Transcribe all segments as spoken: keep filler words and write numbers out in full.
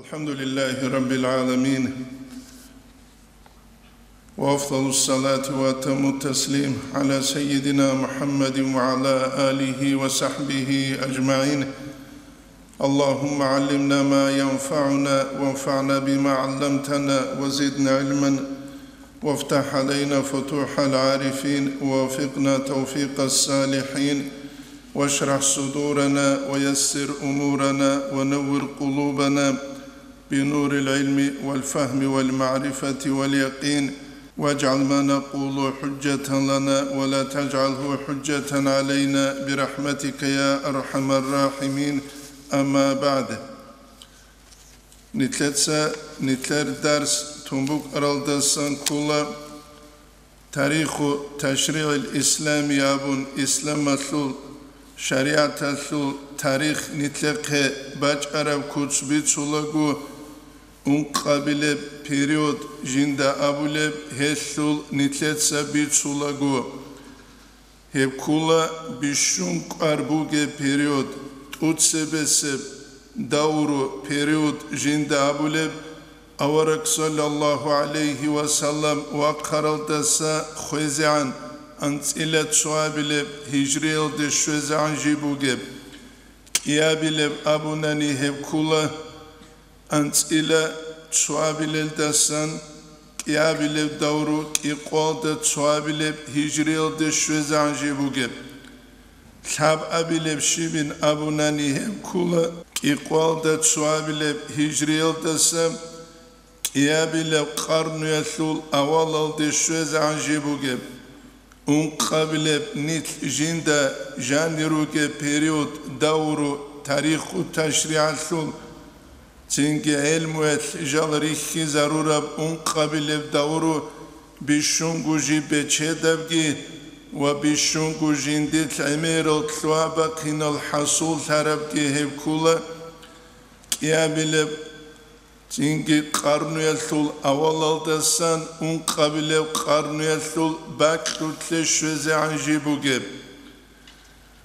الحمد لله رب العالمين، وأفضل الصلاة وأتم التسليم على سيدنا محمد وعلى آله وصحبه أجمعين. اللهم علمنا ما ينفعنا وانفعنا بما علمتنا وزدنا علما وافتح علينا فتوح العارفين ووفقنا توفيق الصالحين واشرح صدورنا ويسر أمورنا ونور قلوبنا بنور العلم والفهم والمعرفة واليقين، واجعل ما نقول حجة لنا ولا تجعله حجة علينا برحمتك يا أرحم الراحمين. أما بعد. Нилъеца нилъер дарс тун букӀаралдасан ккола Тариху ташригӀил ислами абун, исламалъул шаригӀаталъул тарих нилъехъе бачӀараб куц бицулаго, ункъабилеб период жинда абулеб гьелъул нилъеца бицулаго. Гьеб ккола бищун кӀвар бугеб период, тӀуцебесеб давру период жинда абулеб, авараг саллаллагьу гӀалайгьи ва саллам вахъаралдаса хвезегӀан анцӀила цоабилеб гьижриялде щвезегӀан жиб бугеб. КӀиабилеб абунани гьеб ккола анцӀила цоабилелдасан кӀиабилеб давру кӀикъоялда цоабилеб гьижриялде щвезегӀан жиб бугеб. Лъабабилеб щибин абунани гьеб ккола кӀикъоялда цоабилеб гьижриялдаса кӀиабилеб къарнуялъул авалалде щвезегӀан жиб бугеб. Ункъабилеб нилъ жинда жанир ругеб период давру тариху ташригӀалъул, цинги гӀелмуялъ жал рихьизарураб ункъабилеб давру бищунго жиб бечедабги ва бищунго жиндилъ гӀемерал лъугьа-бахъинал хӀасуллъарабги гьеб ккола кӀиабилеб цинги къарнуялъул авалалдасан ункъабилеб къарнуялъул бакьулъе щвезегӀан жиб бугеб.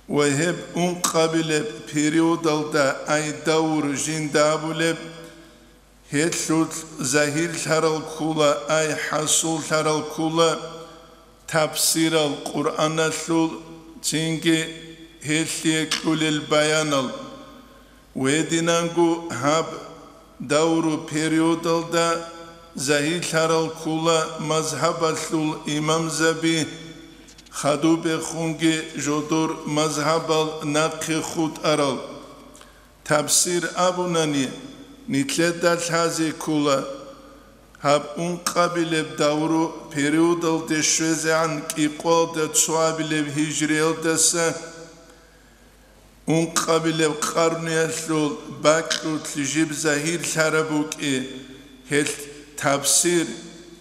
Ва гьеб ункъабилеб периодалда ай давр жинда абулеб, гьелъулъ загьирлъарал ккола, ай хӀасуллъарал ккола, тафсирал Къуръаналъул, цинги гьелъие кьулел баянал. Гьединанго гьаб давру периодалда загьирлъарал ккола мазгьабалъул имамзаби, хадубехунги жодор мазгьабал нахъе хутӀарал. Тафсир абунани, нилъеда лъазе ккола, гьаб ункъабилеб давру периодалде щвезегӀан кӀикъоялда цоабилеб гьижриялдаса ункъабилеб къарнуялъул бакьулъ жиб загьирлъараб букӀи, гьелъ тафсир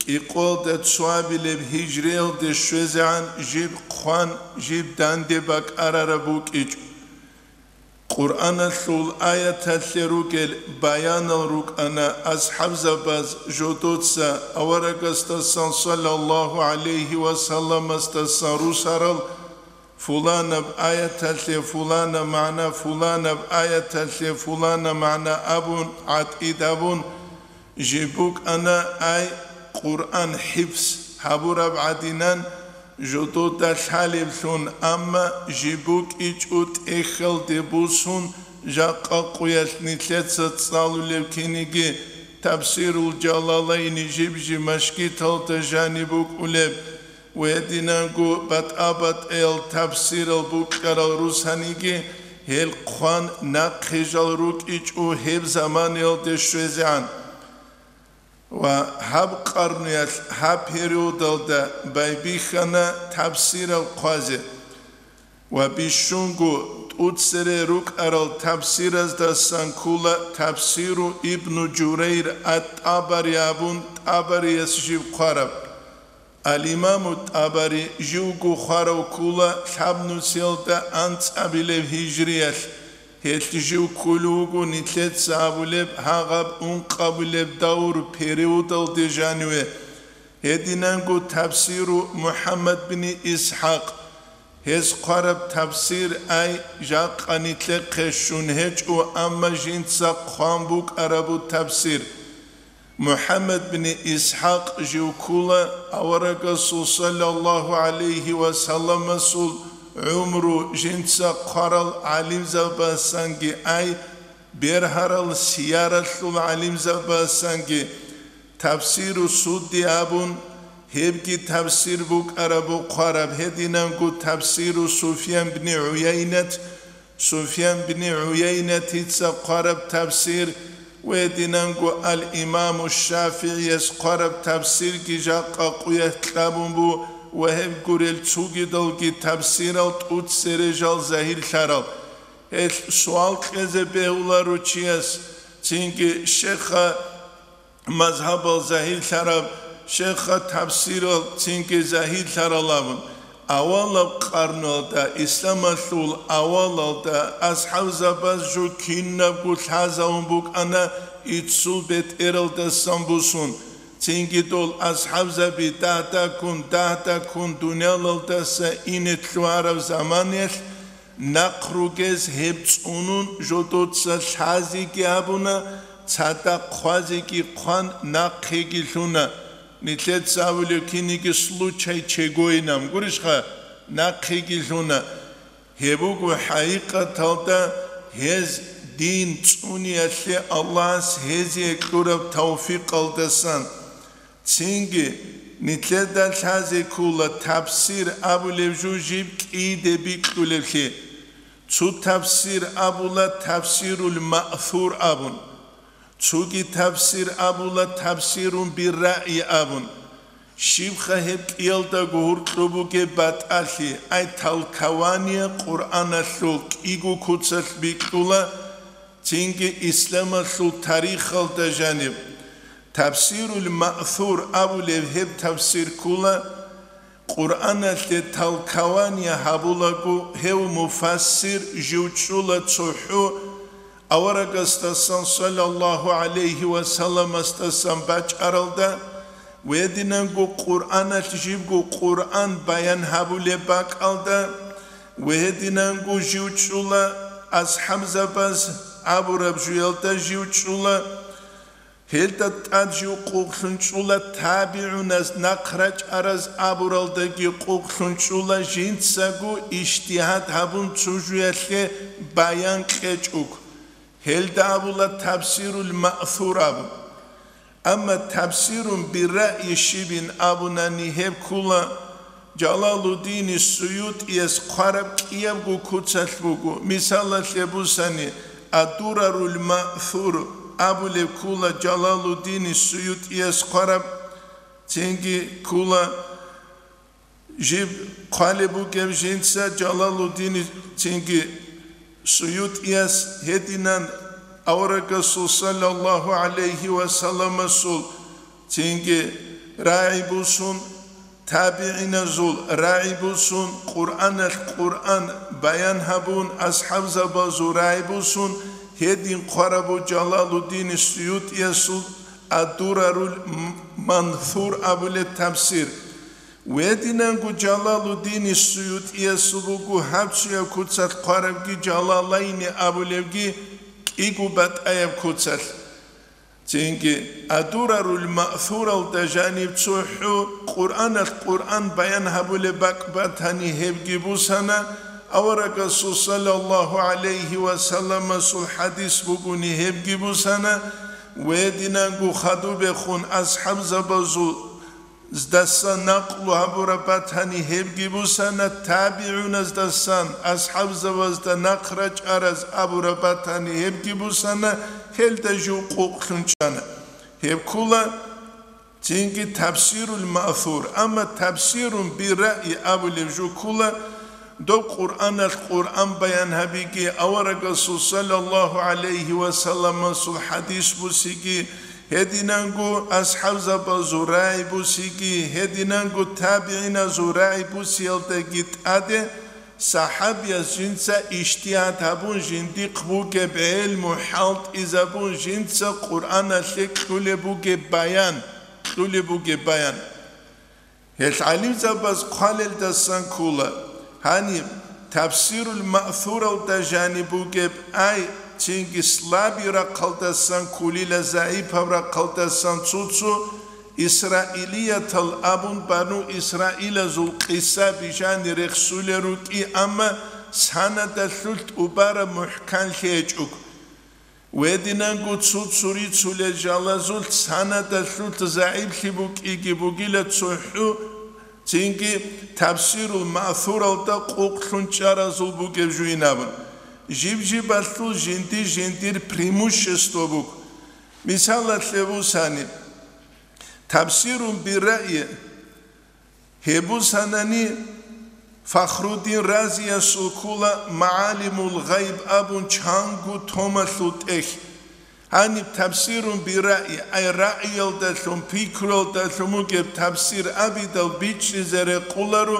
кӀикъоялда цоабилеб гьижриялде щвезегӀан жиб хъван, жиб данде бакӀарараб букӀичӀо. Къуръаналъул аяталъе ругел баянал рукӀана асхӀабзабаз жодоца аварагасдасан саллаллагьу гӀалайгьи ва салламасдасан русарал, фуланаб аяталъе фулана магӀна, фуланаб аяталъе фулана магӀна абун, гӀатӀид абун, жиб букӀана ай Къуръан хӀифз гьабураб гӀадинан, жодода лъалеблъун, амма жиб букӀичӀо тӀехьалде бусун, жакъа къуялъ нилъеца цӀалулеб киниги, Тафсирул Жалалайни жиб-жиб машгиталда жаниб букӀулеб, ва гьединанго батӀа-батӀиял тафсирал букӀарал русаниги, гьел хъван нахъе жал рукӀичӀо гьеб заманаялде щвезегӀан. Ва гьаб къарнуялъ, гьаб периодалда байбихьана тафсирал хъвазе. Ва бищунго тӀуцере рукӀарал тафсираздасан ккола тафсиру Ибну Журайр ат-ТӀабари абун, ТӀабарияс жив хъвараб. Ал-Имаму ТӀабари живго хварав ккола лъабнусиялда анцӀабилеб гьижриялъ, гьелъ жив кколев вуго нилъеца абулеб гьагъаб ункъабилеб давр периодалде жаниве, гьединанго тафсиру МухӀаммад бин ИсхӀакъ, Гьес хъвараб тафсир ай жакъа нилъехъе щун гьечӀо, амма жинца хъван букӀарабу тафсир. МухӀаммад бин ИсхӀакъ жив ккула, аварагасул саллаллагьу гӀалайгьи ва салламасул гӀумру жинца хъварал гӀалимзабасанги ай, бергьарал сияралъул гӀалимзабасанги, тафсиру Судди абун, гьебги тафсир букӀарабу хъвараб, гьединанго тафсиру Суфьян бни ГӀуяйнат, Суфьян бни ГӀуяйнатица хъвараб тафсир, ва гьединанго ал-Имаму ШафигӀияс хъвараб тафсирги жакъа къуялъ кьабун бу, ва гьеб гурел цугидалги тафсирал тӀуцережал загьирлъарал. Гьелъ суал кьезе бегьуларо чияс, цинги шейха мазгьабал загьирлъараб, шейха тафсирал цинги загьирлъарал абун, авалаб къарнуялда, исламалъул авалалда, асхӀабзабаз жо кинабго лъазавун букӀана иццул бетӀералдасан бусун, цинги дол асхӀабзаби дагь-дагьккун, дагь-дагьккун дуниялалдаса ине лъугьараб заманаялъ, нахъ ругез гьеб цӀунун, жо доца лъазеги гьабуна, цадахъ хъвазеги хъван, нахъеги лъуна. Нилъеца абулеб киниги случай чегойинан гурищха, нахъеги лъуна. Гьеб буго хӀакъикъаталда гьез дин цӀуниялъе Аллагьас гьезие кьураб тавфикъалдасан. Цинги, нилъеда лъазе ккола тафсир абулеб жо жиб кӀиде бикьулеблъи. Цо тафсир абула тафсирул маъсур абун, цоги тафсир абула тафсирун бирраъи абун. Щибха гьеб кӀиялдаго гьоркьоб бугеб батӀалъи, ай толкование Къуръаналъул кӀиго куцалъ бикьула, цинги исламалъул тарихалда жаниб. Тафсирул маъсур абулеб гьеб тафсир ккула, Къуръаналъе толкование гьабулаго, гьев муфассир жив чӀула цохӀо аварагасдасан, саллаллагьу гӀалайгьи ва салламасдасан бачӀаралда, ва гьединанго Къуръаналъ жибго Къуръан баян гьабулеб бакӀалда, ва гьединанго жив чӀула асхӀабзабаз абураб жуялда жив чӀула, гьелда тӀад жив къокълъун чӀула, табигӀуназ, нахъ рачӀараз абуралдаги къокълъун чӀула, жинцаго ижтигьад гьабун цо жуялъе баян кьечӀого. Гьелда абула тафсирул маъсур абун. Амма тафсирун бирраъи щибин абунани, гьеб ккула Жалалуддини СуютӀияс хъвараб кӀиябго куцалъ буго. Мисалалъе бусани, Аддурарул Маъсур абулеб ккула Жалалуддини СуютӀияс хъвараб, цинги ккула жиб хъвалеб бугеб жинца Жалалуддини, цинги СуютӀияс гьединан аварагасул саллаллагьу гӀалайгьи ва салламасул цинги рагӀи бусун, табигӀиназул рагӀи бусун, Къуръаналъ Къуръан баян гьабун, асхӀабзабазул рагӀи бусун, гьедин хъварабу Жалалуддини СуютӀиясул Аддурарул М-, Мансур абулеб тафсир. Гьединанго Жалалуддини СуютӀиясул буго гьаб цояб куцалъ хъварабги, Жалалайни абулебги, кӀиго батӀаяб куцалъ. Цинги Аддурарул Маъсуралда жаниб цохӀо Къуръаналъ Къуръан баян гьабулеб бакӀ батани, гьебги бусана, аварагасул саллаллагьу гӀалайгьи ва салламасул хӀадис бугони, гьебги бусана, ва гьединанго хадубехун асхӀабзабазул здасан накълу гьабураб батани, гьебги бусана, табигӀуназдасан асхӀабзабазда нахъ рачӀараз абураб батани, гьебги бусана, гьелда жив къокълъун чӀана. Гьеб ккула цинги тафсирул маъсур, амма тафсирун бирраъи абулеб жо ккула, доб Къуръаналъ Къуръан баян гьабиги, аварагасул саллаллагьу гӀалайгьи ва салламасул хӀадис бусиги, гьединанго асхӀабзабазул рагӀи бусиги, гьединанго табигӀиназул рагӀи бусиялдаги тӀаде, сахӀабияс жинца ижтигьад гьабун жиндихъ бугеб гӀелму хӀалтӀизабун жинца Къуръаналъе кьулеб бугеб баян, кьулеб бугеб баян. Гьел гӀалимзабаз хъвалелдасан ккула, Гьаниб, Тафсирул Маъсуралда жаниб бугеб ай, цинги слабый рахъалдасан кколила, загӀипаб рахъалдасан цо-цо исраилиятал абун бану Исраилазул къиса бижани рехсулел рукӀи, амма санадалъулъ тӀубараб мухӀканлъи гьечӀого. Гьединанго цо-цо рицулел жалазулъ санадалъулъ загӀиплъи букӀиги бугила цохӀо, цинги Тафсирул Маъсуралда къокълъун чӀаразул бугеб жуйин абун. Жиб-жибалъул жинди-жиндир преимущество буго. Мисалалъе бусани, Тафсирун бирраъи, гьеб бусанани, Фахруддин Разиясул ккола МагӀалимул гъайб абун чанго томалъул тӀехь. Гьаниб Тафсирун бирраъи, ай раъиялдалъун, пикруялдалъун бугеб тафсир абидал бичӀчӀизе рекъоларо,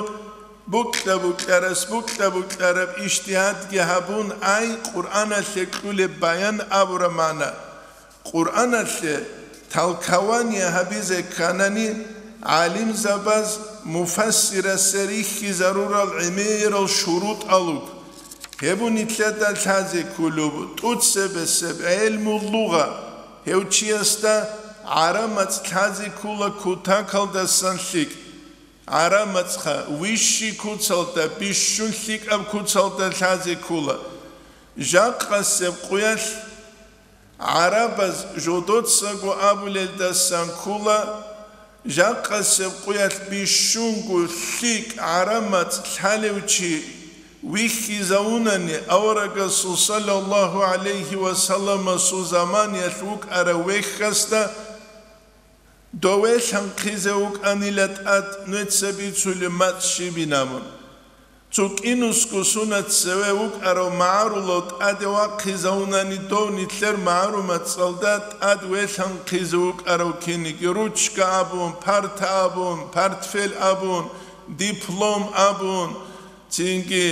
букьа-букьарас букьа-букьараб ижтигьадги гьабун, ай Къуръаналъе кьулеб баян абураб магӀна. Къуръаналъе толкование гьабизе кканани, гӀалимзабаз муфассирасе рихьизарурал гӀемерал шурутӀал руго. Гьеб нилъеда лъазе кколеб, тӀоцебесеб гӀелмул лугъа, гьев чиясда гӀараб мацӀ лъазе ккола кутакалдасан лъикӀ. ГӀараб мацӀха вищий куцалда, бищун лъикӀаб куцалда лъазе ккола. Жакъасеб къуялъ гӀарабаз жодоцаго абулелдасан ккола, жакъасеб къуялъ бищунго лъикӀ гӀараб мацӀ лъалев чи вихьизавунани, аварагасул саллаллагьу гӀалайгьи ва салламасул заманиялъ вукӀарав вехьасда, дов велъанхъизе вукӀанила тӀад нуца бицулеб мацӀ щибин абун. Цо кӀинусго сунат цеве вукӀарав магӀарулав тӀаде вахъизавунани дов нилъер магӀарул мацӀалда тӀад велъанхъизе вукӀарав киниги, ручка абун, парта абун, портфель абун, диплом абун, цинги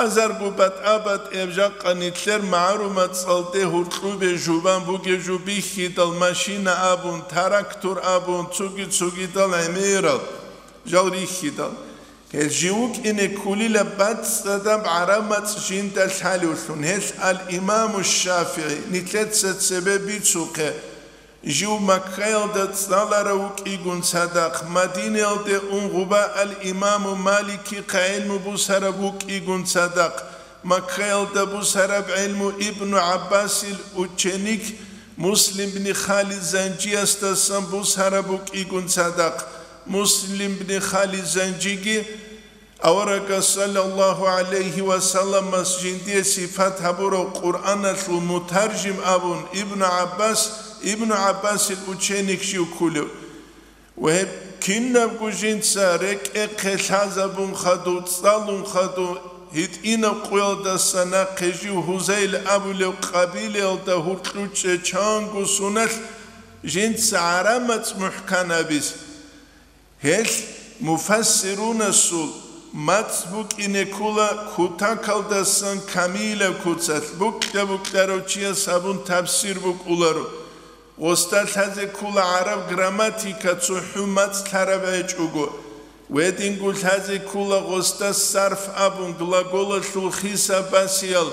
азарго батӀа-батӀияб жакъа нилъер магӀарул мацӀалде гьуркьубе жубан бугеб жо бихьидал, машина абун, трактор абун, цоги-цогидал гӀемерал жал рихьидал. Гьел жив вукӀине кколила бацӀцӀадаб гӀараб мацӀ жинда лъалевлъун. Гьел ал-Имаму ШафигӀи, нилъеца цебе бицухъе, жив Маккаялда цӀаларав вукӀигун цадахъ, Мадинаялде ун гъуба ал-Имаму Маликихъа гӀелму бусараб вукӀигун цадахъ, Маккаялда бусараб гӀелму Ибну ГӀаббасил ученик Муслим бни Халид Занжиясдасан бусараб вукӀигун цадахъ, Муслим бни Халид Занжиги аварагас саллаллагьу гӀалайгьи ва салламас жиндие сипат гьабурав Къуръаналъул мутаржим абун Ибну ГӀаббас, Ибну ГӀаббасил ученик жив кколев. Ва гьеб кинабго жинца рекӀехъе лъазабун хадув, цӀалун хадув, гьитӀинаб къуялдаса нахъе жив Гьузайл абулев къабилаялда гьуркьучӀе чанго суналъ жинца гӀараб мацӀ мухӀкан абизе. Гьелъ муфассирунасул мацӀ букӀине ккола кутакалдасан камилаб куцалъ, букьа-букьарав чияс гьабун тафсир букӀуларо. Гъосда лъазе ккола гӀараб грамматика цохӀо мацӀ лъараб гьечӀого. Гьединго лъазе ккола гъосда сарф абун глаголалъул хисаб басиял,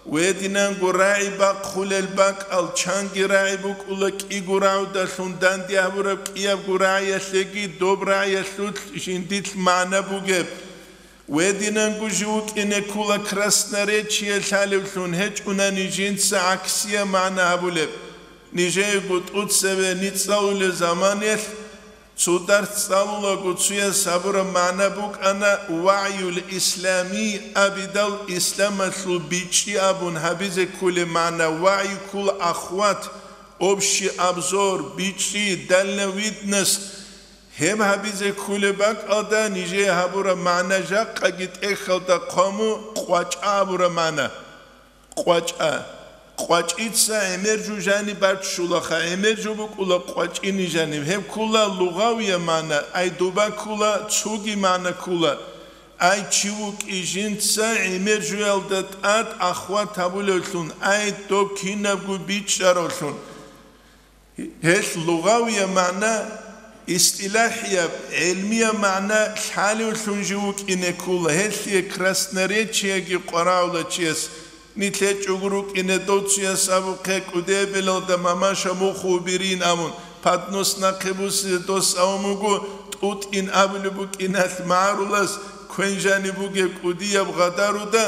гьединанго рагӀи бахъулел бакӀал, чанги рагӀи букӀула кӀиго рагӀудалъун данде гьабураб кӀиябго рагӀиялъеги доб рагӀиялъулъ жиндилъ магӀна бугеб. Гьединанго жив вукӀине ккола красноречие лъалевлъун, гьечӀунани жинца гӀаксияб магӀна гьабулеб. Нижеего тӀоцеве ницӀалулел заманиялъ цо дарс цӀалулаго цояс гьабураб магӀна букӀана вагӀюл исламий абидал, исламалъул бичӀчӀи абун гьабизе кколеб магӀна, вагӀю ккола охват, общий обзор, бичӀчӀи, дальновидность. Гьеб гьабизе кколеб бакӀалда нижее гьабураб магӀна жакъаги тӀехьалда хъваму къвачӀа абураб магӀна. КъвачӀа. КъвачӀица гӀемер жо жаниб баччулаха, гӀемер жо букӀула къвачӀини жаниб. Гьеб ккула лугъавияб магӀна, ай дуба ккула, цоги магӀна ккула. Ай чи вукӀи жинца гӀемер жоялда тӀад ахват гьабулевлъун, ай доб кинабго бичӀчӀаравлъун. Гьелъ лугъавияб магӀна истилахӀияб, гӀелмияб магӀна лъалевлъун жив вукӀине ккола, гьелъие красноречиеги къварагӀула чияс. Нилъ гьечӀого рукӀине доцуяс абухъе кӀудияб белалда мамаша муху уберин абун, поднос нахъе бусизе дос авун вуго, тӀутӀин абулеб букӀиналъ магӀарулас, квен жаниб бугеб кӀудияб гъадаруда,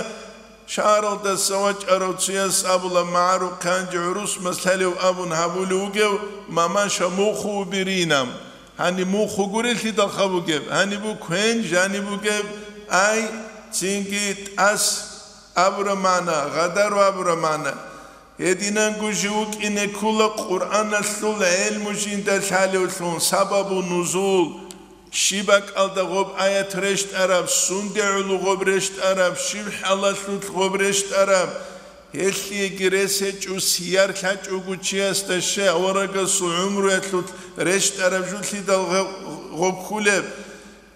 шагьаралдаса вачӀарав цуяс абула, магӀарухъе гьанже гӀурус маслъалев абун гьабулев вугев, мамаша муху уберин абун. Гьаниб муху гурелъидалха бугеб, гьаниб бу квен жаниб бугеб, ай, цинги тӀас абура магӀна, гъадару абура магӀна. Гьединанго жив вукӀине ккола Къуръаналъул гӀелму жинда лъалевлъун, сабабу нузул, щиб бакӀалда гъоб аят рещтӀараб, сунде гӀоло гъоб рещтӀараб, щиб хӀалалъулъ гъоб рещтӀараб, гьелъиеги рес гьечӀо, сияр лъачӀого чиясда щай аварагасул гӀумруялъулъ рещтӀараб жулъидал гъ-, гъоб кколеб.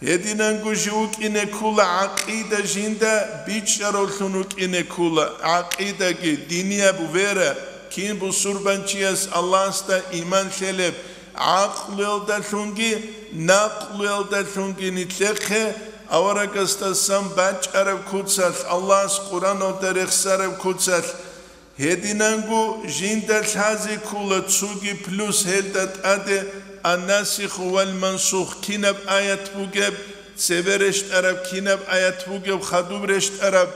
Гьединанго жив вукӀине ккола гӀакъида жинда бичӀчӀаравлъун вукӀине ккола, гӀакъидаги, динияб вера, кин бусурбанчияс Аллагьасда иман лъелеб, гӀакълуялдалъунги накълуялдалъунги нилъехъе аварагасдасан бачӀараб куцалъ, Аллагьас Къуръаналда рехсараб куцалъ. Гьединанго жинда лъазе ккола цоги плюс гьелда тӀаде ан-насиху вал-мансух кинаб аят бугеб, цебе рещтӀараб кинаб аят бугеб, хадуб рещтӀараб,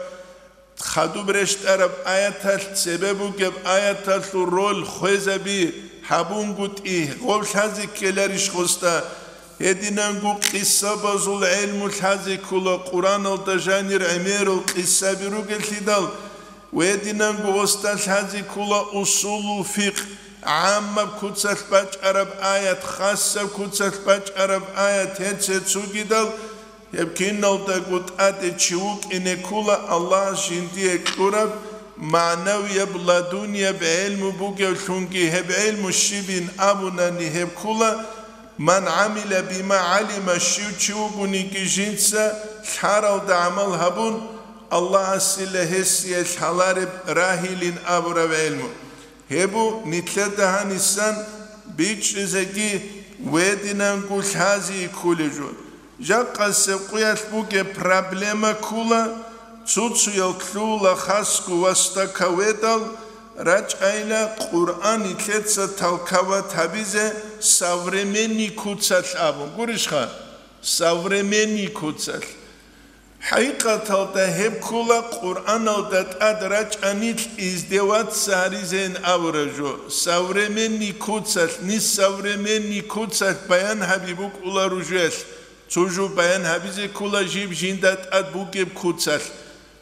хадуб рещтӀараб аяталъ цебе бугеб аяталъул роль хвезаби, гьабунгутӀи, гъоб лъазе ккеларищ гъосда? Гьединанго къисабазул гӀелму лъазе ккола, Къуръаналда жанир гӀемерал къисаби ругелъидал, Гьединанго гъосда лъазе ккола усулул фикъ, гӀаммаб куцалъ бачӀараб аят, хасаб куцалъ бачӀараб аят, гьеб цецугидал, гьеб киналдаго тӀаде чи вукӀине ккола Аллагьас жиндие кьураб магӀнавияб ладунияб гӀелму бугевлъунги, гьеб гӀелму щибин абунани гьеб ккола, ман гӀамила бима гӀалима, щив чи вугониги жинца лъаралда гӀамал гьабун, Аллагьасила гьесие лъалареб рагьилин абураб гӀелму. Гьеб бу нилъеда гьанисан бичӀчӀизеги гьединанго лъазе кколеб жо. Жакъасеб къуялъ бугеб проблема ккола, цо-цоял лъугьула хасго вастакаведал рачӀайла Къуръан нилъеца толковать гьабизе современный куцалъ абун. Гурищха? Современный куцалъ. ХӀакъикъаталда гьеб ккола Къуръаналда тӀад рачӀанилъ издеваться гьаризейин абураб жо. Современный куцалъ, ниж современный куцалъ баян гьаби букӀула ружуялъ. Цо жо баян гьабизе ккола жиб жинда тӀад бугеб куцалъ.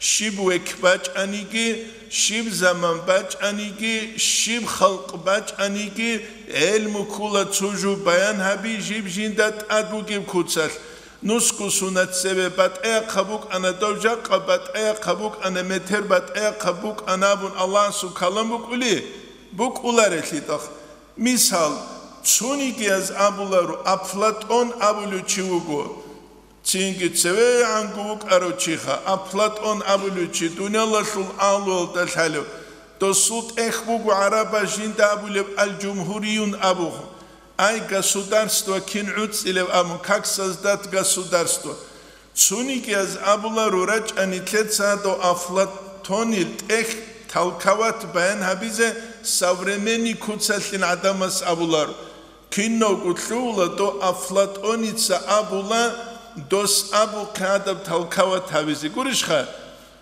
Щиб век бачӀаниги, щиб заман бачӀаниги, щиб халкъ бачӀаниги, гӀелму ккола цо жо баян гьаби жиб жинда тӀад бугеб куцалъ. Нусго сунат цебе батӀаяб хъа букӀана, дов жакъа батӀаяб хъа букӀана, метер батӀаяб хъа букӀана абун Аллагьасул калам букӀули? БукӀуларелъидал. Мисал, цонигияз абуларо, Афлатон абулев чи вуго. Цинги цевегӀанго вукӀарав чиха, Афлатон абулев чи, дуниялалъул агьлуялда лъалев. Досул тӀехь буго гӀарабаз жинда абулеб аль-жумгьуриюн абу. Ай, государство кин гӀуцӀилев абун, как создать государство. Цунигияз абуларо рачӀани лъецадав Афлатонил тӀехь толковать баян гьабизе современный куцалъин гӀадамас абуларо. Кинавго лъугьула дов Афлатоница абула, дос абухъе гьадаб толковать гьабизе. Гурищха?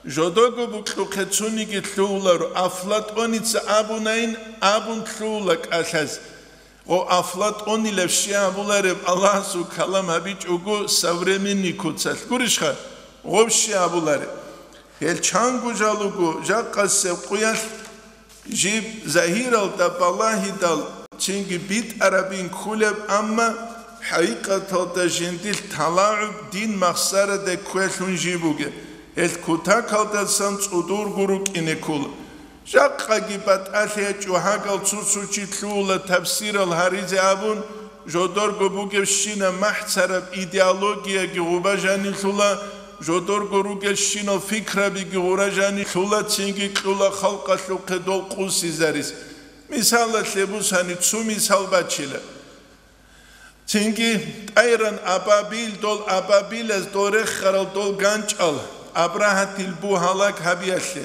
Жодого букьухъе цуниги лъугьуларо, Афлатоница абунайин абун лъугьула кӀалъаз. Гъо Афлатонилаб щиб абулареб Аллагьасул калам гьабичӀого современный куцалъ. Гурищха? Гъоб щиб абулареб? Гьел чанго жал руго, жакъасеб къуялъ жиб загьиралда балагьидал цинги битӀарабин кколеб, амма хӀакъикъаталда жиндилъ талагӀуб дин махсараде кквелъун жиб бугеб, гьел кутакалдасан цӀудурго рукӀине ккола. Жакъаги батӀалъи гьечӀо, гьагал цо-цо чи лъугьула тафсирал гьаризе абун, жодорго бугебщина махӀцараб идеологияги гъуба жанилъула, жодорго ругелщинал фикрабиги гъура жанилъула, цинги кьула халкъалъухъе дол къусизарис. Мисалалъе бусани, цо мисал бачила. Цинги тӀайран абабил, дол абабилаз дол рехарал дол ганчӀал, Абрагьатил бугь гьалаг гьабиялъе.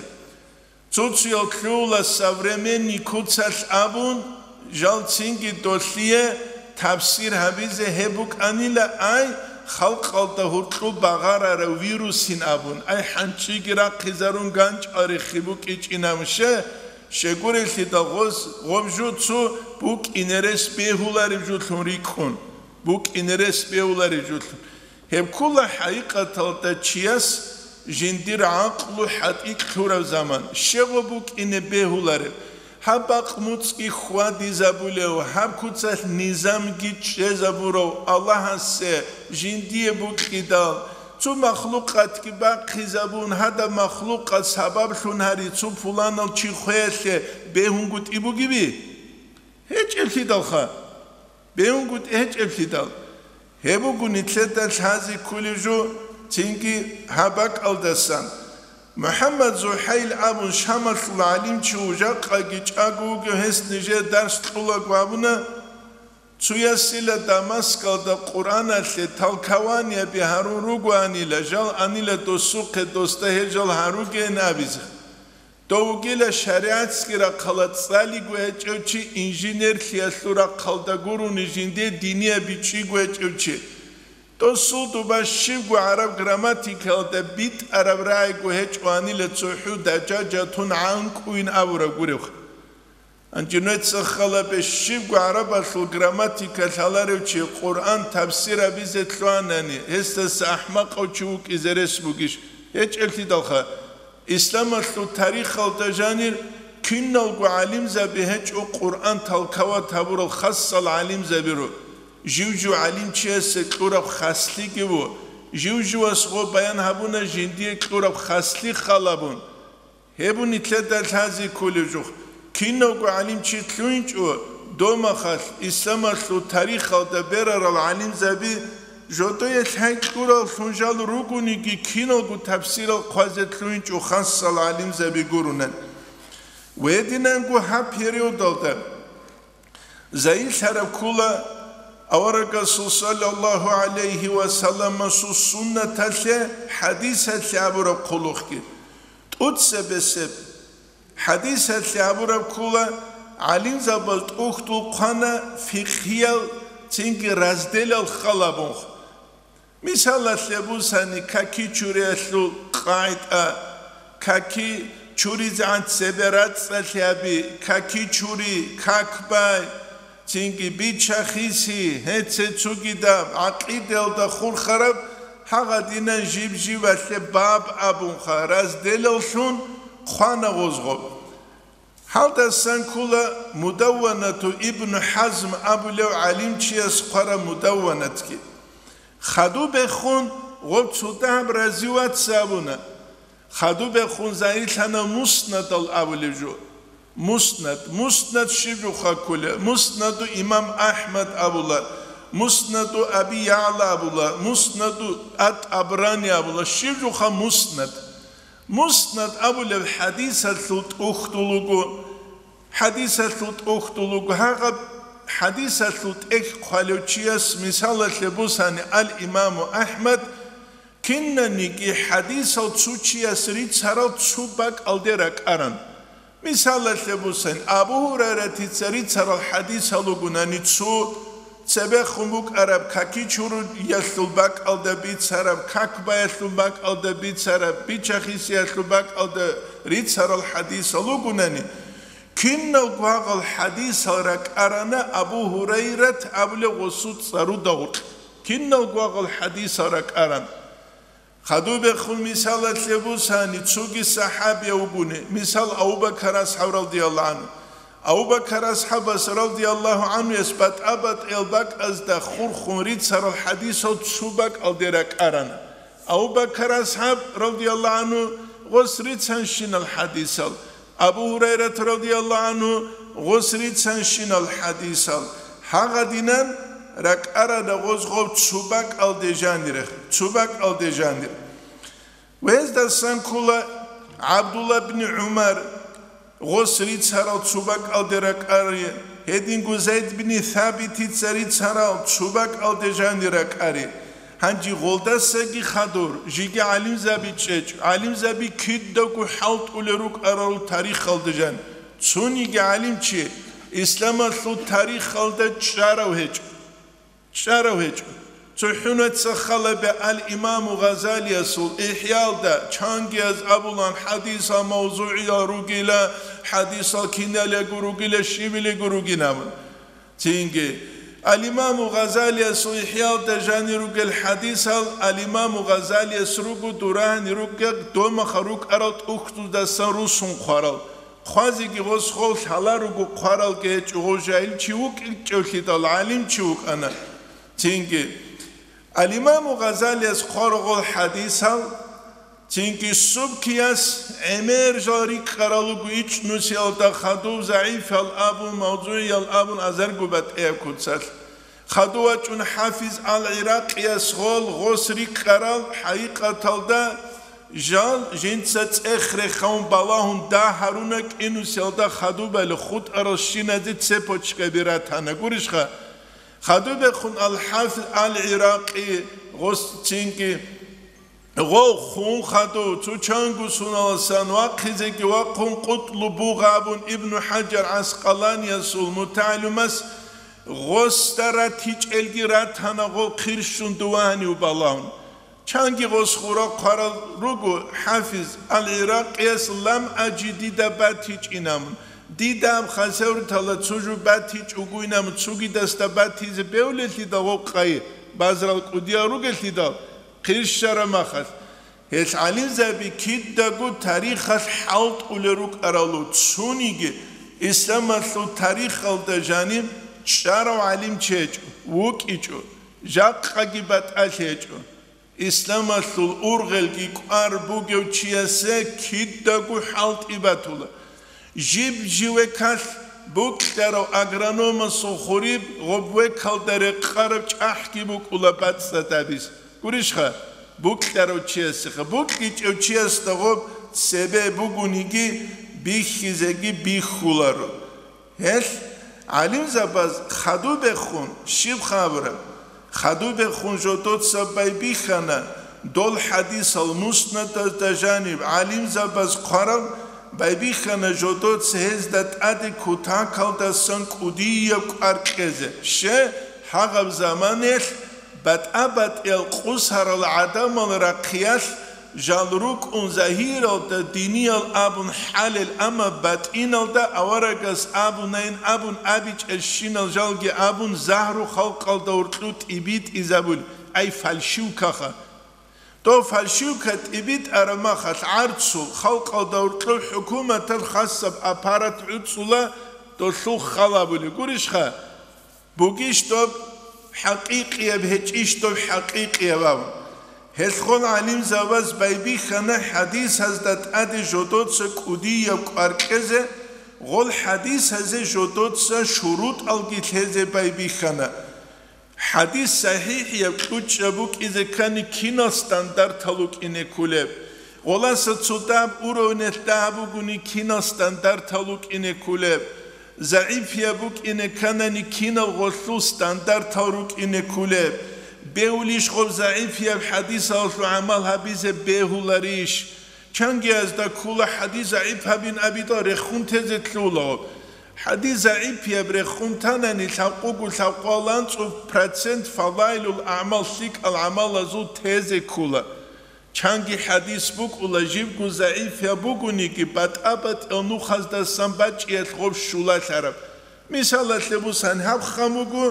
Цо-цоял лъугьула современный куцалъ абун, жал цинги долъие тафсир гьабизе гьеб букӀанила, ай, халкъалда гьуркьу багъарарав вирусин абун, ай, хӀанчӀиги рахъизарун ганчӀал рехи букӀичӀинаб ше, щегурелъидал гъоз-, гъоб жо цо букӀине рес бегьулареб жолъун рикӀкӀун, букӀине рес бегьулареб жолъун. Гьеб ккола хӀакъикъаталда чияс жиндир гӀакълу хӀатӀикь лъураб заман, щегъо букӀине бегьулареб, гьаб бакъ муцӀги хьвадизабулев, гьаб куцалъ низамги чӀезабурав Аллагьасе жиндие букьидал, цо махлукъатги бахъизабун, гьадаб махлукъат сабаблъун гьари цо пуланал чи хвеялъе бегьунгутӀи бугеби? ГьечӀеблъидалха. БегьунгутӀи гьечӀеблъидал. Гьеб буго нилъеда лъазе кколеб жо, цинги гьаб бакӀалдасан. МухӀаммад ЗухӀайл абун Шамалъул гӀалимчи вуго, жакъаги чӀаго вугев, гьес нижее дарс кьолаго абуна, цоясила Дамаскалда Къуръаналъе толкованияби гьарун ругоанила, жал анила досухъе, досда гьел жал гьаругейин абизе. Дов вугила шаригӀатги рахъалда цӀалиго гьечӀев чи, инженерлъиялъул рахъалда гурони жинде динияб бичӀчӀиго гьечӀев чи. Досул доба щибго гӀараб грамматикалда битӀараб рагӀиго гьечӀоанила цохӀу дажажатун гӀанкӀуйин абураб гуребха. Гьанже нужеца хал гьабе, щибго гӀарабалъул грамматика лъаларев чи Къуръан тафсир гьабизе лъугьанани, гьесдаса ахӀмакъав чи вукӀизе рес бугищ? ГьечӀеблъидалха. Исламалъул тарихалда жанир киналго гӀалимзаби гьечӀо Къуръан толковать гьабурал, хасал гӀалимзабиро. Жив-жив гӀалимчиясе кьураб хаслъиги ву, жив-живас гъо баян гьабуна жиндие кьураб хаслъи халабун. Гьеб нилъеда лъазе кколеб жо. Киналго гӀалимчи лъугьинчӀо, домахалъ, исламалъул тарихалда берарал гӀалимзаби, жодое лъай кьураллъун жал ругониги, киналго тафсирал хъвазе лъугьинчӀо хасал гӀалимзаби гуронан. Гьединанго гьаб периодалда, Загьирлъараб ккола аварагасул саллаллагьу гӀалайгьи ва салламасул суннаталъе, хӀадисалъе абураб хъулухъги. ТӀуцебесеб хӀадисалъе абураб ккола, гӀалимзабаз тӀухьдул хъвана фикъгьиял цинги разделал халабунха. Мисалалъе бусани, каки чуриялъул къагӀида, каки чуризегӀан цебе рацӀцӀалъи гьаби, каки чури, как бай, цинги бича-хиси, гьеце цогидаб, гӀакъидаялда хурхараб, гьагъадинан жиб-жибалъе баб абунха, разделаллъун хъвана гъозго. Гьалдасан ккола Мудавванату Ибну ХӀазм абулев гӀалимчияс хъвараб мудавванатги. Хадубехун гъоб цо дагьаб рази вац абуна. Хадубехун загьирлъана Муснадал абулеб жо. Муснад. Муснад щиб жуха кколеб? Муснаду имам АхӀмад абула, Муснаду Аби ЯгӀла абула, Муснаду ат-ТӀабрани абула. Щиб жуха Муснад? Муснад абулеб хӀадисалъул тӀухьдул вуго. ХӀадисалъул тӀухьдул вуго. Гьагъаб хӀадисалъул тӀехь хъвалев чияс, мисалалъе бусани, ал-Имаму АхӀмад, кинаниги хӀадисал цо чияс рицарал цо бакӀалде ракӀаран. Мисалалъе бусани, Абу Гьурайратица рицарал хӀадисал ругунани цо, цебехун букӀараб каки чуриялъул бакӀалда бицараб, как баялъул бакӀалда бицараб, бича-хисиялъул бакӀалда рицарал хӀадисал ругунани, киналго гьагъал хӀадисал ракӀарана Абу Гьурайрат абулев гъосул цӀаруда гъоркь. Киналго гьагъал хӀадисал ракӀаран. Хадубехун мисалалъе бусани, цоги сахӀабияв вугони, мисал, Абу Бакар асхӀаб радияллагьу гӀанхӀу. Абу Бакар асхӀабас радияллагьу гӀанхӀуяс батӀа-батӀиял бакӀазда хурхун рицарал хӀадисал цо бакӀалде ракӀарана. Абу Бакар асхӀаб радияллагьу гӀанхӀу гъос рицанщинал хӀадисал, Абу Гьурайрат радияллагьу гӀанхӀу гъос рицанщинал хӀадисал, гьагъадинан ракӀарана гъоз гъов цо бакӀалде жанире, цо бакӀалде жанир. Гьездасан ккола ГӀабдулла бни ГӀумар, Гъос рицарал цо бакӀалде ракӀари, гьединго Зайд бин Сабитица рицарал цо бакӀалде жани ракӀари. Гьанже гъолдасаги хадур, жеги гӀалимзаби чӀечӀ, гӀалимзаби кидаго хӀалтӀулел рукӀарал тарихалда жан. Цониги гӀалимчи исламалъул тарихалда чӀарав гьечӀо. ЧӀарав гьечӀо. ЦохӀунаца халабе ал-Имаму Гъазалиясул ИхӀялда чангияз абулан хӀадисал мавзугӀиял ругила, хӀадисал киналего ругила, щибилего ругин абун. Цинги, ал-Имаму Гъазалиясул ИхӀялда жанир ругел хӀадисал ал-Имаму Гъазалияс руго дурагьани ругел домаха рукӀарал тӀухьдуздасан русун хъварал. Хъвазеги гъос гъов лъала руго хъваралги гьечӀо, гъов жагьил чи вукӀинчӀевлъидал, гӀалим чи вукӀана. Цинги, ал-Имаму Гъазалияс хъварал гъол хӀадисал, цинги Субкияс гӀемер жал рикӀкӀарал руго ичӀнусиялда хадув загӀифал абун, мавзугӀиял абун азарго батӀияб куцалъ. Хадув вачӀун ХӀафиз ал-ГӀиракъияс гъол гъос рикӀкӀарал, хӀакъикъаталда, жал жинца цӀех рехаун балагьун дагь гьаруна кӀинусиялда хадубали хутӀарал щиназе цепочкаби ратана гурищха? Хадубехун ал-ХӀафиз ал-ГӀиракъи гъос цинги гъов хун хадув, цо чанго суналасан вахъизеги вахъун къутӀлу бугъабун Ибну ХӀажар ГӀаскъаланиясул мутагӀалимас гъосда ратичӀелги ратана гъов хъирщун дувагьанив балагьун. Чанги гъос хура хъварал руго ХӀафиз ал-ГӀиракъияс лам аджи дида батичӀинамун. Дида аб хасавртала цо жо батичӀугуйнамун, цугидасда батизе бевлелъидал гъов къай, базарал кӀудиял ругелъидал, хъирщара махалъ. Гьел гӀалимзаби кидаго тарихалъ хӀалтӀулел рукӀаралу, цониги исламалъул тарихалда жаниб чӀарав гӀалим чи гьечӀо, вукӀичӀо, жакъаги батӀалъи гьечӀо. Исламалъул ургъелги кӀвар бугев чиясе кидаго хӀалтӀи батула. Жиб-жив векалъ букьарав агрономасул хуриб гъоб векалда рекъараб чӀахӀги букӀула бацӀцӀадабиз. Гурищха, букьарав чиясеха, букьичӀев чиясда гъоб цебе бугониги бихьизеги бихьуларо. Гьелъ гӀалимзабаз хадубехун щиб хабураб? Хадубехун жодоца байбихьана, дол хӀадисал муснадазда жаниб гӀалимзабаз хъвараб, байбихьана жодоца гьезда тӀаде кутакалдасан кӀудияб кӀвар кьезе. Ще, гьагъаб заманаялъ батӀа-батӀиял къусарал гӀадамал рахъиялъ жал рукӀун загьиралда диниял абун хӀалел, амма батӀиналда аварагас абунайин абун абичӀелщинал жалги абун загьру халкъалда уркьу тӀибитӀизабул, ай фальшивкаха. Дов фальшивка тӀибитӀараб махалъ гӀарцул халкъалда уркьу хӀукуматал хасаб аппарат гӀуцӀула, долъул хал абулеб гурищха? Бугищ доб хӀакъикъияб, гьечӀищ доб хӀакъикъияб абун. Гьелъ гъол гӀалимзабаз байбихьана хӀадисазда тӀаде жодоца кӀудияб кӀвар кьезе, гъол хӀадисазе жодоца шурутӀалги лъезе байбихьана. ХӀадис сахӀихӀияб кьучӀаб букӀизе ккани кинал стандартал вукӀине кколеб? Гъоласа цо дагьаб уровнелъ дагьаб бугони кинал стандартал вукӀине кколеб? ЗагӀипияб букӀине кканани кинал гъолъул стандартал рукӀине кколеб? Бегьулищ гъоб загӀипияб хӀадисалъул гӀамал гьабизе бегьуларищ? Чангиязда ккола хӀадис загӀип гьабин абидал рехун тезе ккола гъоб. ХӀадис загӀипияб рехун танани лъабкъого лъабкъоялда анцӀго процент фадайлул агӀмал, лъикӀал гӀамалазул тезе ккола. Чанги хӀадис букӀула, жибго загӀипияб бугониги, батӀа-батӀиял нухаздасан бачӀиялъ гъоб щулалъараб. Мисалалъе бусан, гьаб хъан буго,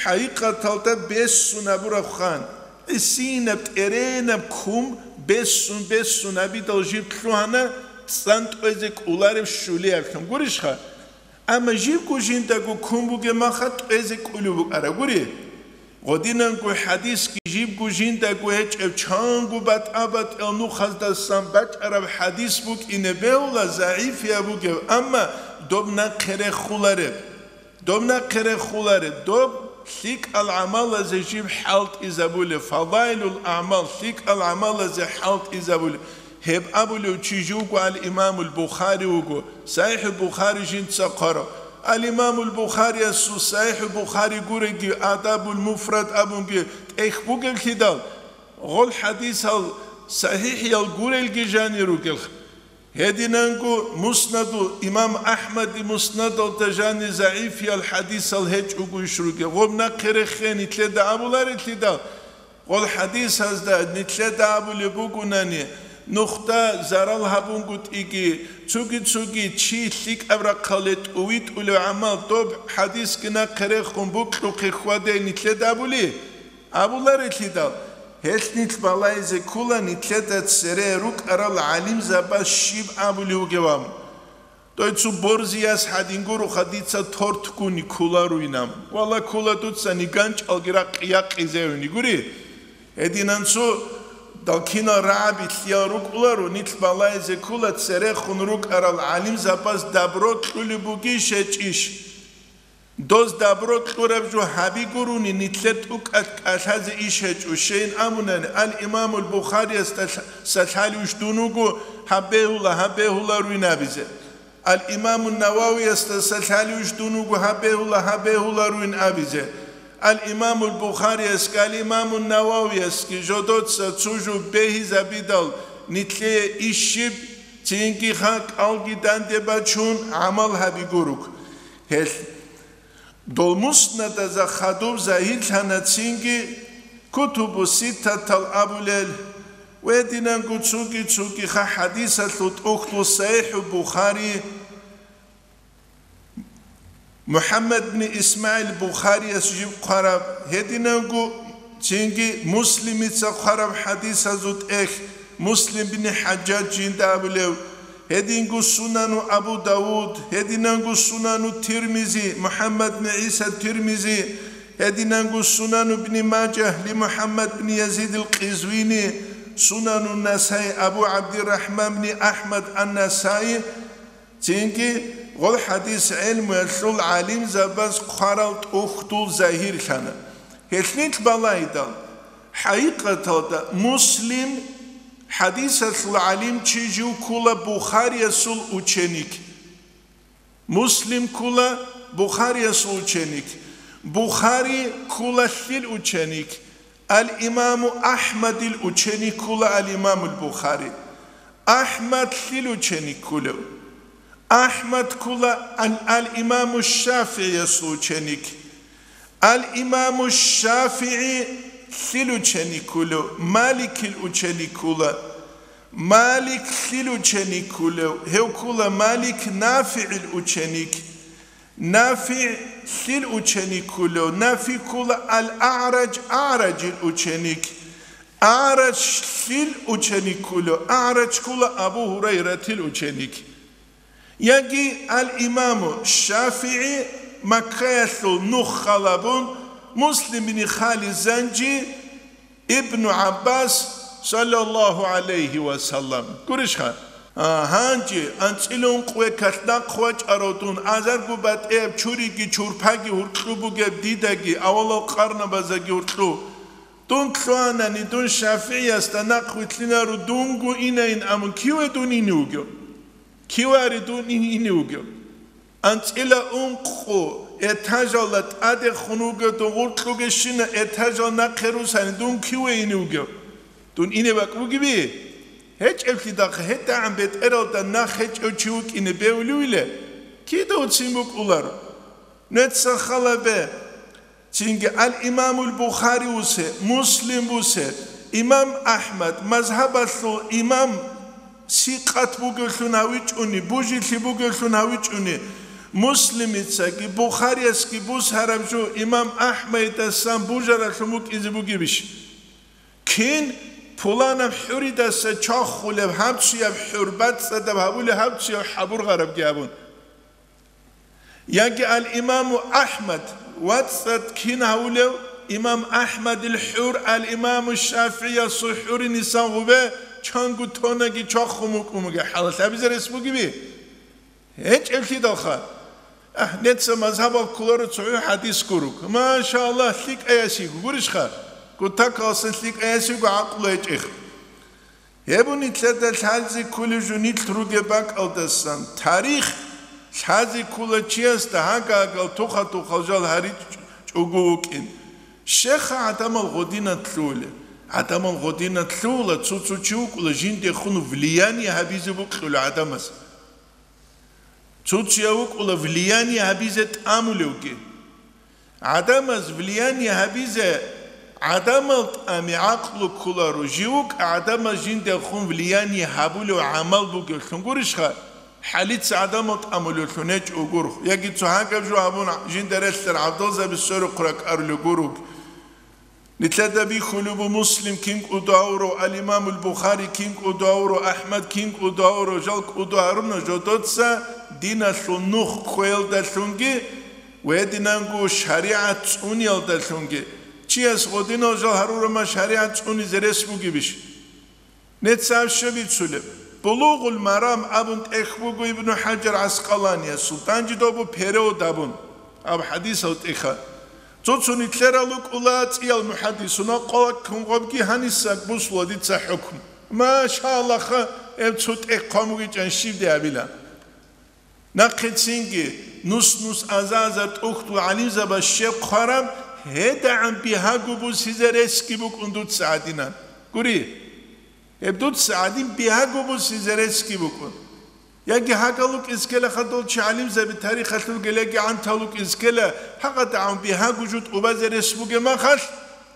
хӀакъикъаталда бессун абураб хъан, гӀисинаб, тӀеренаб ккун бессун-бессун абидал жиб лъугьана, цӀан тӀвезе кӀолареб щулиялъун гурищха? Амма жибго жиндаго ккун бугеб маха тӀвезе кӀолеб букӀараб гури. Гъодинанго хӀадисги жибго жиндаго гьечӀеб чанго батӀа-батӀиял нухаздасан бачӀараб хӀадис букӀине бегьула загӀипияб бугеб, амма доб нахъе рехулареб. Доб нахъе рехулареб, доб лъикӀал гӀамалазе жиб хӀалтӀизабулеб, фадайлул агӀмал, лъикӀал гӀамалазе хӀалтӀизабулеб. Гьеб абулев чи живго ал-Имамул Бухари вуго, СахӀихӀул Бухари жинца хъварав. Ал-Имамул Бухариясул СахӀихӀул Бухари гуреги, Адабул Муфрад абунги тӀехь бугеблъидал, гъол хӀадисал сахӀихӀиял гурелги жанир ругел. Гьединанго Муснаду, имам АхӀмади Муснадалда жанир загӀифиял хӀадисал гьечӀого иш ругел. Гъоб нахъе рехе нилъеда абуларелъидал, гъол хӀадисазда нилъеда абулеб бугунани, нухда зарал гьабунгутӀиги, цуги-цуги чи лъикӀаб рахъалде тӀувитӀулев гӀамал доб хӀадисги нахъе рехун букьухъе хьваде нилъеда абули? Абуларелъидал, гьелъ нилъ балайзе ккола нилъеда цере рукӀарал гӀалимзабаз щиб абулев вугеван. Дой цо борзияс гьадин гуроха дица тортгуни кколаруйнан. Вала ккола дуцани ганчӀалги ракъи якъизевни гури. Гьединан цо далкинал рагӀаби лъиял рукӀуларо, нилъ балайзе ккола церехун рукӀарал гӀалимзабаз дабро кьулеб бугищ гьечӀищ. Доз дабро кьураб жо гьаби гурони нилъер тӀукӀалъ кӀалъазе иш гьечӀо, щейин абунани, ал-Имамул Бухариясда лъ-, салъалиуш дун вуго гьаб бегьула, гьаб бегьула руйнабизе. Ал-Имамун Нававиясда салъалиуш дун вуго гьаб бегьула, гьаб бегьула руйн абизе. Ал-Имамул Бухариясги, ал-Имамун Нававиясги жодоца цо жо бегьизабидал нилъее иш щиб, цинги ха кӀалги данде бачун гӀамал гьаби гурук. Гьелъ дол муснадазда хадуб загьирлъана цинги кутубу ситтатал абулел, гьединанго цуги-цуги ха хӀадисалъул тӀухьдул СахӀихӀул Бухари, МухӀаммад бни ИсмагӀил Бухарияс жиб хъвараб, гьединанго цинги Муслимица хъвараб хӀадисазул тӀехь, Муслим бни ХӀажжаж жинда абулев, гьединго Сунану Абу Давуд, гьединанго Сунану Тирмизи, МухӀаммад бни ГӀиса Тирмизи, гьединанго Сунану бни Мажагь ли МухӀаммад бни Язидил Къизвини, Сунану Насаи Абу ГӀабдиррахӀман бни АхӀмад ан-Насаи, цинги гъол хӀадис гӀелмуялъул гӀалимзабаз хъварал тӀухьдул загьирлъана. Гьелъ нилъ балайдал, хӀакъикъаталда Муслим хӀадисалъул гӀалимчи жив ккула Бухариясул ученик. Муслим ккула Бухариясул ученик. Бухари ккула лъил ученик? Ал-Имаму АхӀмадил ученик ккула ал-Имамул Бухари. АхӀмад лъил ученик ккулев? АхӀмад ккула ал-, ал-Имаму ШафигӀиясул ученик. Ал-Имаму ШафигӀи лъил ученик ккулев? Маликил ученик ккула. Малик лъил ученик ккулев? Гьев ккула Малик НафигӀил ученик. НафигӀ лъил ученик ккулев? НафигӀ ккула Ал-АгӀраж, АгӀражил ученик. АгӀраж лъил ученик ккулев? АгӀраж ккула Абу Гьурайратил ученик. Яги ал-Имаму ШафигӀи Маккаялъул нух халабун, Муслим бин Халид Занжи, Ибну ГӀаббас, саллаллагьу гӀалайгьи ва саллам. Гурищха? А, гьанже анцӀила ункъ векалъ нахъ вачӀарав дун, азарго батӀияб чуриги чурпаги гьуркьу бугеб дидаги авалал къарнабаздаги гьуркьу. Дун лъугьанани, дун ШафигӀиясда нахъ вилълъинаро дунго инайин абун, киве дун ине вугев? Кивари дун ин-, ине вугев? АнцӀила ункъо этажалда тӀадехун вугев дун гъуркьугещина этажал нахъе русани, дун киве ине вугев? Дун ине бакӀ бугеби? ГьечӀеблъидахъ гьетӀагӀан бетӀералда нахъ гьечӀев чи вукӀине бевлъувиле? Кида уцин букӀуларо? Нуца халабе. Цинги ал-Имамул Бухари вусе, Муслим вусе, имам АхӀмад, мазгьабалъул имам, сикъат бугевлъун гьавичӀони, бужилъи бугевлъун гьавичӀони, Муслимицаги Бухариясги бусараб жо имам АхӀмадидасан бужаралъун букӀизе бугебищ? Кин пуланаб хӀуридаса чвахулеб, гьабцуяб хӀур бацӀцӀадаб гьабулеб, гьабцуяб хӀабургъарабги абун. Яги ал-Имаму АхӀмад, вацӀцӀад кин гьавулев? Имам АхӀмадил хӀур ал-Имаму ШафигӀиясул хӀуринисан гъубе чанго тонаги чвахун букӀун бугеб хӀалалъ абизе рес бугеби? ГьечӀеблъидалха. АхӀ, нуца мазгьабал кколаро цохӀо хӀадис гурук. Машаллагь, лъикӀаясиго гурищха? Кутакалсан лъикӀаясиго гӀакълу гьечӀех. Гьеб нилъеда лъазе кколеб жо нилъ ругеб бакӀалдасан, тарих лъазе ккола чиясда гьагагал туха-тухал жал гьаричӀого вукӀин. Щеха гӀадамал гъодинат лъугьула. ГӀадамал гъодинат лъугьула, цо-цо чи вукӀула жиндехун влияние гьабизе бокьула гӀадамаз. Цо-цояв вукӀула влияние гьабизе тӀамулевги. ГӀадамаз влияние гьабизе гӀадамал тӀами гӀакълу кколаро, жив вукӀа гӀадамаз жиндехун влияние гьабулев гӀамал бугевлъун гурищха? ХӀалица гӀадамал тӀамулевлъун гьечӀо гуро, яги цо гьагаб жо гьабун жинда релълъараб гӀабдалзаби сверухъ ракӀарулев гуро. Нилъеда бихьулеб буго Муслим кин кӀудо гьавурав, ал-Имамул Бухари кин кӀудо гьавурав, АхӀмад кин кӀудо гьавурав, жал кӀудо гьаруна жодоца диналъул нух кквеялдалъунги ва гьединанго шаригӀат цӀуниялдалъунги. Чияс гъодинал жал гьарураб мехалъ шаригӀат цӀунизе рес бугебищ? Нецаяб щиб бицулеб? Булугъул Марам абун тӀехь буго Ибну ХӀажар ГӀаскъаланиясул, данжидабу перевод абун, аб хӀадисал тӀехьа. Цо-цо нилъерал рукӀула цӀиял мухӀаддисунал къвалаккун гъобги гьаниса бусула дица хӀукму. Машаллаха, гьеб цо тӀехь хъван бугичӀан щиб де абила. Нахъецинги нус-нус аза-азар тӀухьдул гӀалимзабаз щиб хъвараб, гьедагӀан бигьаго бусизе ресги букӀун дуца гӀадинан. Гури, гьеб дуца гӀадин бигьаго бусизе ресги букӀун. Яги гьагал вукӀизе ккела хадув чи гӀалимзаби тарихалъулгел, яги гӀантал вукӀизе ккела, гьагъадагӀан бигьаго жо тӀубазе рес бугеб мехалъ,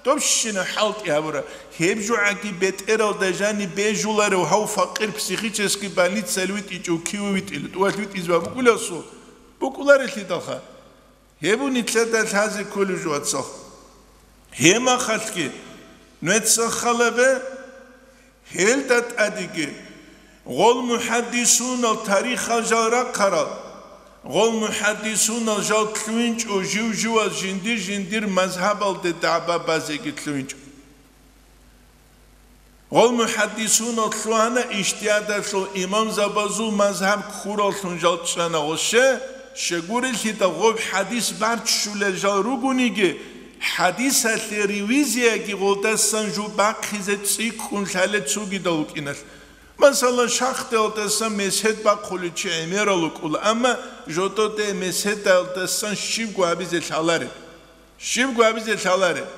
Добщина хӀалтӀи гьабура. Гьеб жо гӀаги бетӀералда жаниб бежуларев гьав факъир психический больницаялъ витӀичӀев киве витӀила, тӀувалъ витӀизе букӀуласул букӀуларелъидалха. Гьеб нилъеда лъазе кколеб жо, вацал. Гьеб мехалъги нуеца халабе, гьелда тӀадеги, гъол мухӀаддисунал тарихал жал рахъарал, гъол мухӀаддисунал жал лъугьинчӀо жив-живал жиндир-жиндир мазгьабалде дагӀба базеги лъугьинчӀо. Гъол мухӀаддисунал лъугьана ижтигьадалъул имамзабазул мазгьаб ккураллъун жал чӀана гъосе, щегурелъидал гъоб хӀадис барччулел жал ругониги, хӀадисалъе ревизияги гъолдасан жо бахъизе цӀикӀкӀун лъалел цогидал вукӀиналъ. Масала, шахтаялдасан месед бахъулев чи гӀемерал вукӀула, амма жододе меседалдасан щибго гьабизе лъалареб. Щибго гьабизе лъалареб.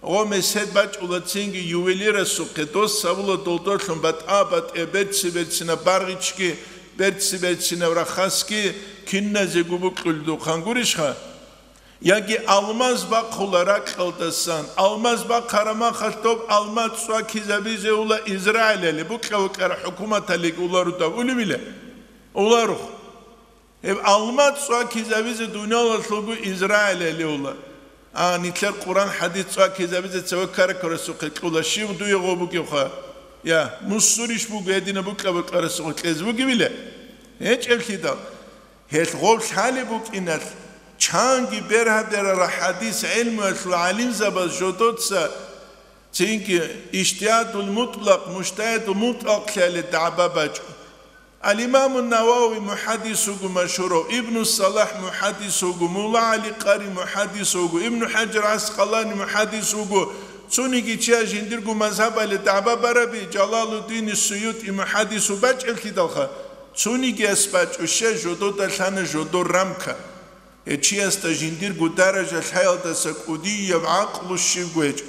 Гъо месед бачӀула цинги ювелирасухъе, дос гьабула долдорлъун батӀа-батӀияб берци-берцинаб баргъичги, берци-берцинаб рахасги киназего букьулдухъан гурищха? Яги алмаз бахъула ракьалдасан, алмаз бахъараб мехалъ доб алмаз цӀвакизабизе ула Израилале, букьа-букьара хӀукуматалиги уларудав улевила? Уларух. Гьеб алмаз цӀвакизабизе дуниялалъулго Израилале ула. А, нилъер Къуран хӀадис цӀвакизабизе цеве ккара-ккарасухъе кьула, щив дуе гъо бугевха? Я, мусурищ буго гьедина букьа-букьарасухъе кьезе бугевила? ГьечӀеблъидал. Гьелъ гъоб лъалеб букӀиналъ, чанги бергьа-бергьара хӀадис гӀелмуялъул гӀалимзабаз жодоца цинги ижтигьадул мутӀлакъ, мужтагьидул мутӀлакълъиялде дагӀба бачӀо. Ал-Имамун Навави мухӀаддис вуго машгьурав, Ибну Салахь мухӀаддис вуго, Мулла ГӀали Къари мухӀаддис вуго, Ибну ХӀажар ГӀаскъалани мухӀаддис вуго, цониги чияс жиндирго мазгьабалде дагӀба бараби, Жалалуддин СуютӀи мухӀаддис вуго бачӀеблъидалха, цонигияс бачӀо, щай жодода лъана жодор рамка. Гьев чиясда жиндирго даража лъаялдаса кӀудияб гӀакълу щибго гьечӀо.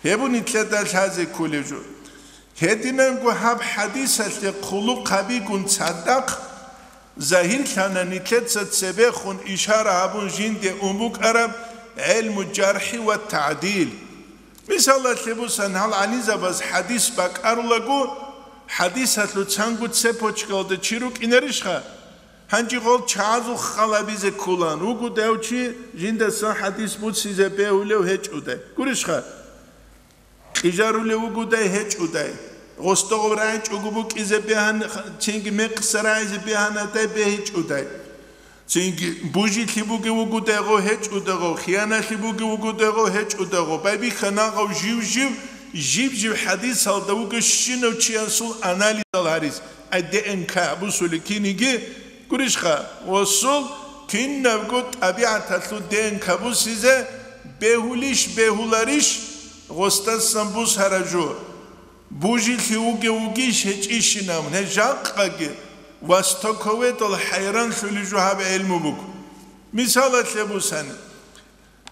Гьеб нилъеда лъазе кколеб жо. Гьединанго гьаб хӀадисалъе хъулухъ гьабигун цадахъ, загьирлъана нилъеца цебехун ишара гьабун жинде ун букӀараб гӀелму жархӀи ва тагӀдил. Мисалалъе бусан, гьал гӀалимзабаз хӀадис бакӀарулаго, хӀадисалъул цанго цепочкаялда чи рукӀинарищха? Гьанже гъол чагӀазул хал гьабизе кколаан вугодай чи жиндасан хӀадис буцизе бегьулев гьечӀодай. Гурищха? Кьижарулев вугодай гьечӀодай. Гъосда гъоб рагӀичӀого букӀизе бегьан-, цинги мекъса рагӀизе бегьанадай бегьичӀодай. Цинги бужилъи бугев вугодай гъов гьечӀодай гъов, хияналъи бугев вугодай гъов гьечӀодай гъов. Байбихьа нагъав жив-жив, жив-жив хӀадисалда вугев щинав чиясул анализал гьарис. Ай, Д Н К бусулеб киниги гурищха, гъосул кинабго тӀабигӀаталъул Д Н К бусизе бегьулищ, бегьуларищ, гъосдасан бусараб жо. Бужилъи вугев вугищ гьечӀищинаб, гьеб жакъаги востоковедал хӀайранлъулеб жо гьаб гӀелму буго. Мисалалъе бусани,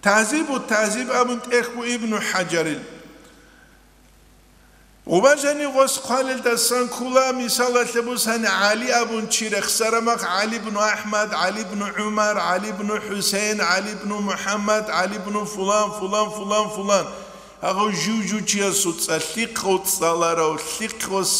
ТагӀзибу ТагӀзиб абун тӀехь буго Ибну ХӀажарил. Гъубажани гъос хъвалелдасан ккола, мисалалъе бусани, ГӀали абун чи рехсараб мах, ГӀали ибну АхӀмад, ГӀали ибну ГӀумар, ГӀали ибну ХӀусейн, ГӀали ибну МухӀаммад, ГӀали ибну фулан, фулан, фулан, фулан. Гьагъав жив-жив чиясул цӀа лъихъав цӀаларав, лъихъ гъос,